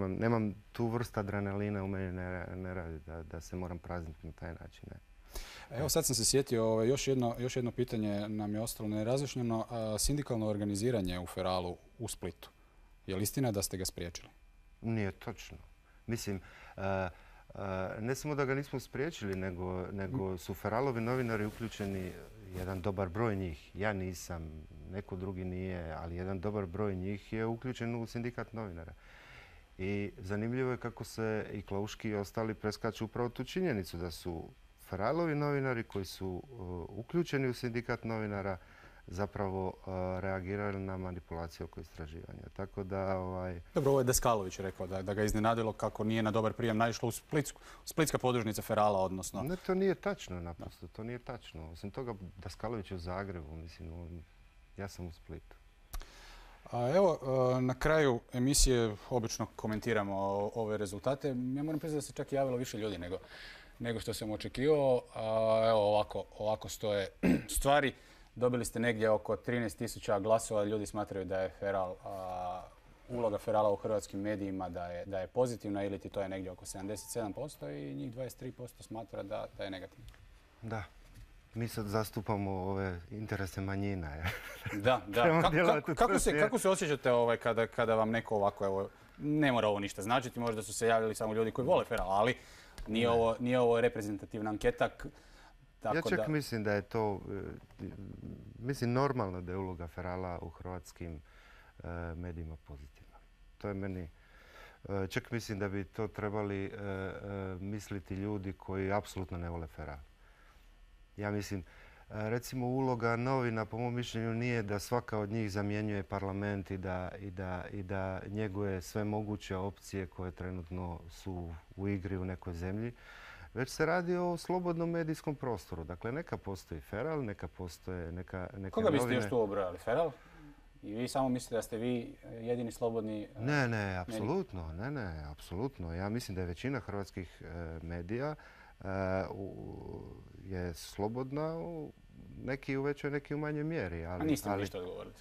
S2: nemam tu vrstu adrenalina u meni ne radi da se moram prazniti na taj način.
S15: Evo sad sam se sjetio, još jedno pitanje nam je ostalo nerazjašnjeno. Sindikalno organiziranje u Feralu u Splitu. Je li istina da ste ga spriječili?
S2: Nije točno. Mislim, ne samo da ga nismo spriječili, nego su Feralovi novinari uključeni, jedan dobar broj njih. Ja nisam, neko drugi nije, ali jedan dobar broj njih je uključen u sindikat novinara. I zanimljivo je kako se i Klauški i ostali preskaču upravo tu činjenicu da su Feralovi novinari koji su uključeni u sindikat novinara zapravo reagirali na manipulaciju oko istraživanja. Tako da...
S15: Dobro, ovo je Deskalović rekao da ga iznenadilo kako nije na dobar prijem naišlo u splitska podružnica Ferala, odnosno...
S2: Ne, to nije tačno naprosto, to nije tačno. Osim toga, Deskalović je u Zagrebu, mislim, ja sam u Splitu.
S15: Evo, na kraju emisije obično komentiramo ove rezultate. Ja moram priznati da se čak i javilo više ljudi nego što sam očekivao. Evo, ovako stoje stvari. Dobili ste negdje oko 13.000 glasova. Ljudi smatraju da je uloga Ferala u hrvatskim medijima da je pozitivna, ili to je negdje oko 77% i njih 23% smatra da je negativna.
S2: Da. Mi sad zastupamo ove interese manjina.
S15: Da. Kako se osjećate kada vam neko ovako, evo, ne mora ovo ništa značiti, možda su se javili samo ljudi koji vole Feral, ali nije ovo reprezentativna anketa.
S2: Ja čak mislim da je to, normalno da je uloga Ferala u hrvatskim medijima pozitivna. To je meni Čak mislim da bi to trebali misliti ljudi koji apsolutno ne vole Feral. Ja mislim, recimo uloga novina po mom mišljenju nije da svaka od njih zamjenjuje parlament i da njeguje sve moguće opcije koje trenutno su u igri u nekoj zemlji. Već se radi o slobodnom medijskom prostoru. Dakle, neka postoji Feral, neka postoje neke novine.
S15: Koga biste još tu obrali? Feral? I vi samo mislite da ste vi jedini slobodni
S2: Ne, apsolutno. Ne, apsolutno. Ja mislim da je većina hrvatskih medija je slobodna, neki u većoj, neki u manjoj mjeri.
S15: A niste mi ništa odgovorili.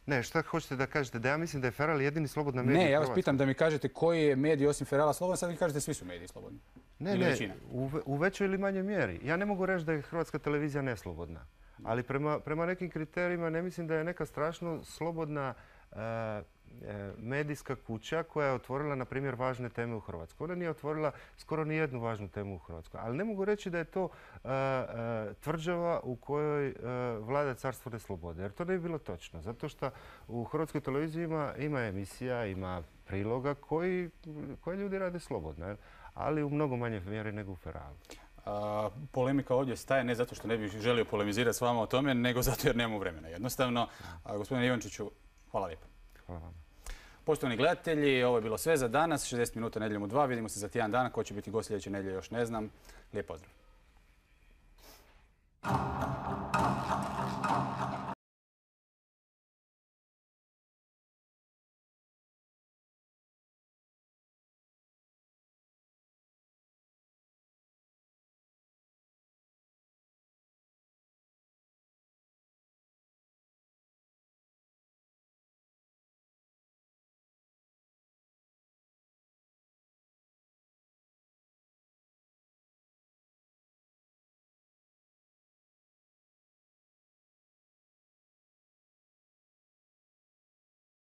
S2: Ne, šta hoćete da kažete? Da ja mislim da je Feral jedini slobodna medija u
S15: Ne, ja
S2: Hrvatskoj.
S15: vas pitam da mi kažete koji je medij osim Ferala slobodan, sad vi kažete svi su mediji slobodni.
S2: Ne, u većoj ili manjoj mjeri. Ja ne mogu reći da je Hrvatska televizija neslobodna, ali prema nekim kriterijima ne mislim da je neka strašno slobodna medijska kuća koja je otvorila, na primjer, važne teme u Hrvatskoj. Ona nije otvorila skoro ni jednu važnu temu u Hrvatskoj. Ali ne mogu reći da je to tvrđava u kojoj vlada carstvo neslobode. Jer to ne bi bilo točno. Zato što u Hrvatskoj televiziji ima emisija, ima priloga koje ljudi rade slobodno. Ali u mnogo manje mjeri nego u Feralu.
S15: Polemika ovdje staje ne zato što ne bih želio polemizirati s vama o tome, nego zato jer nemamo vremena. Jednostavno, gospodine Ivančiću, hvala lijepo.
S2: Hvala vam.
S15: Poštovani gledatelji, ovo je bilo sve za danas. 60 minuta Nedjeljom u 2. Vidimo se za tjedan dana. Ko će biti gost sljedeće nedjelje još ne znam. Lijep pozdrav.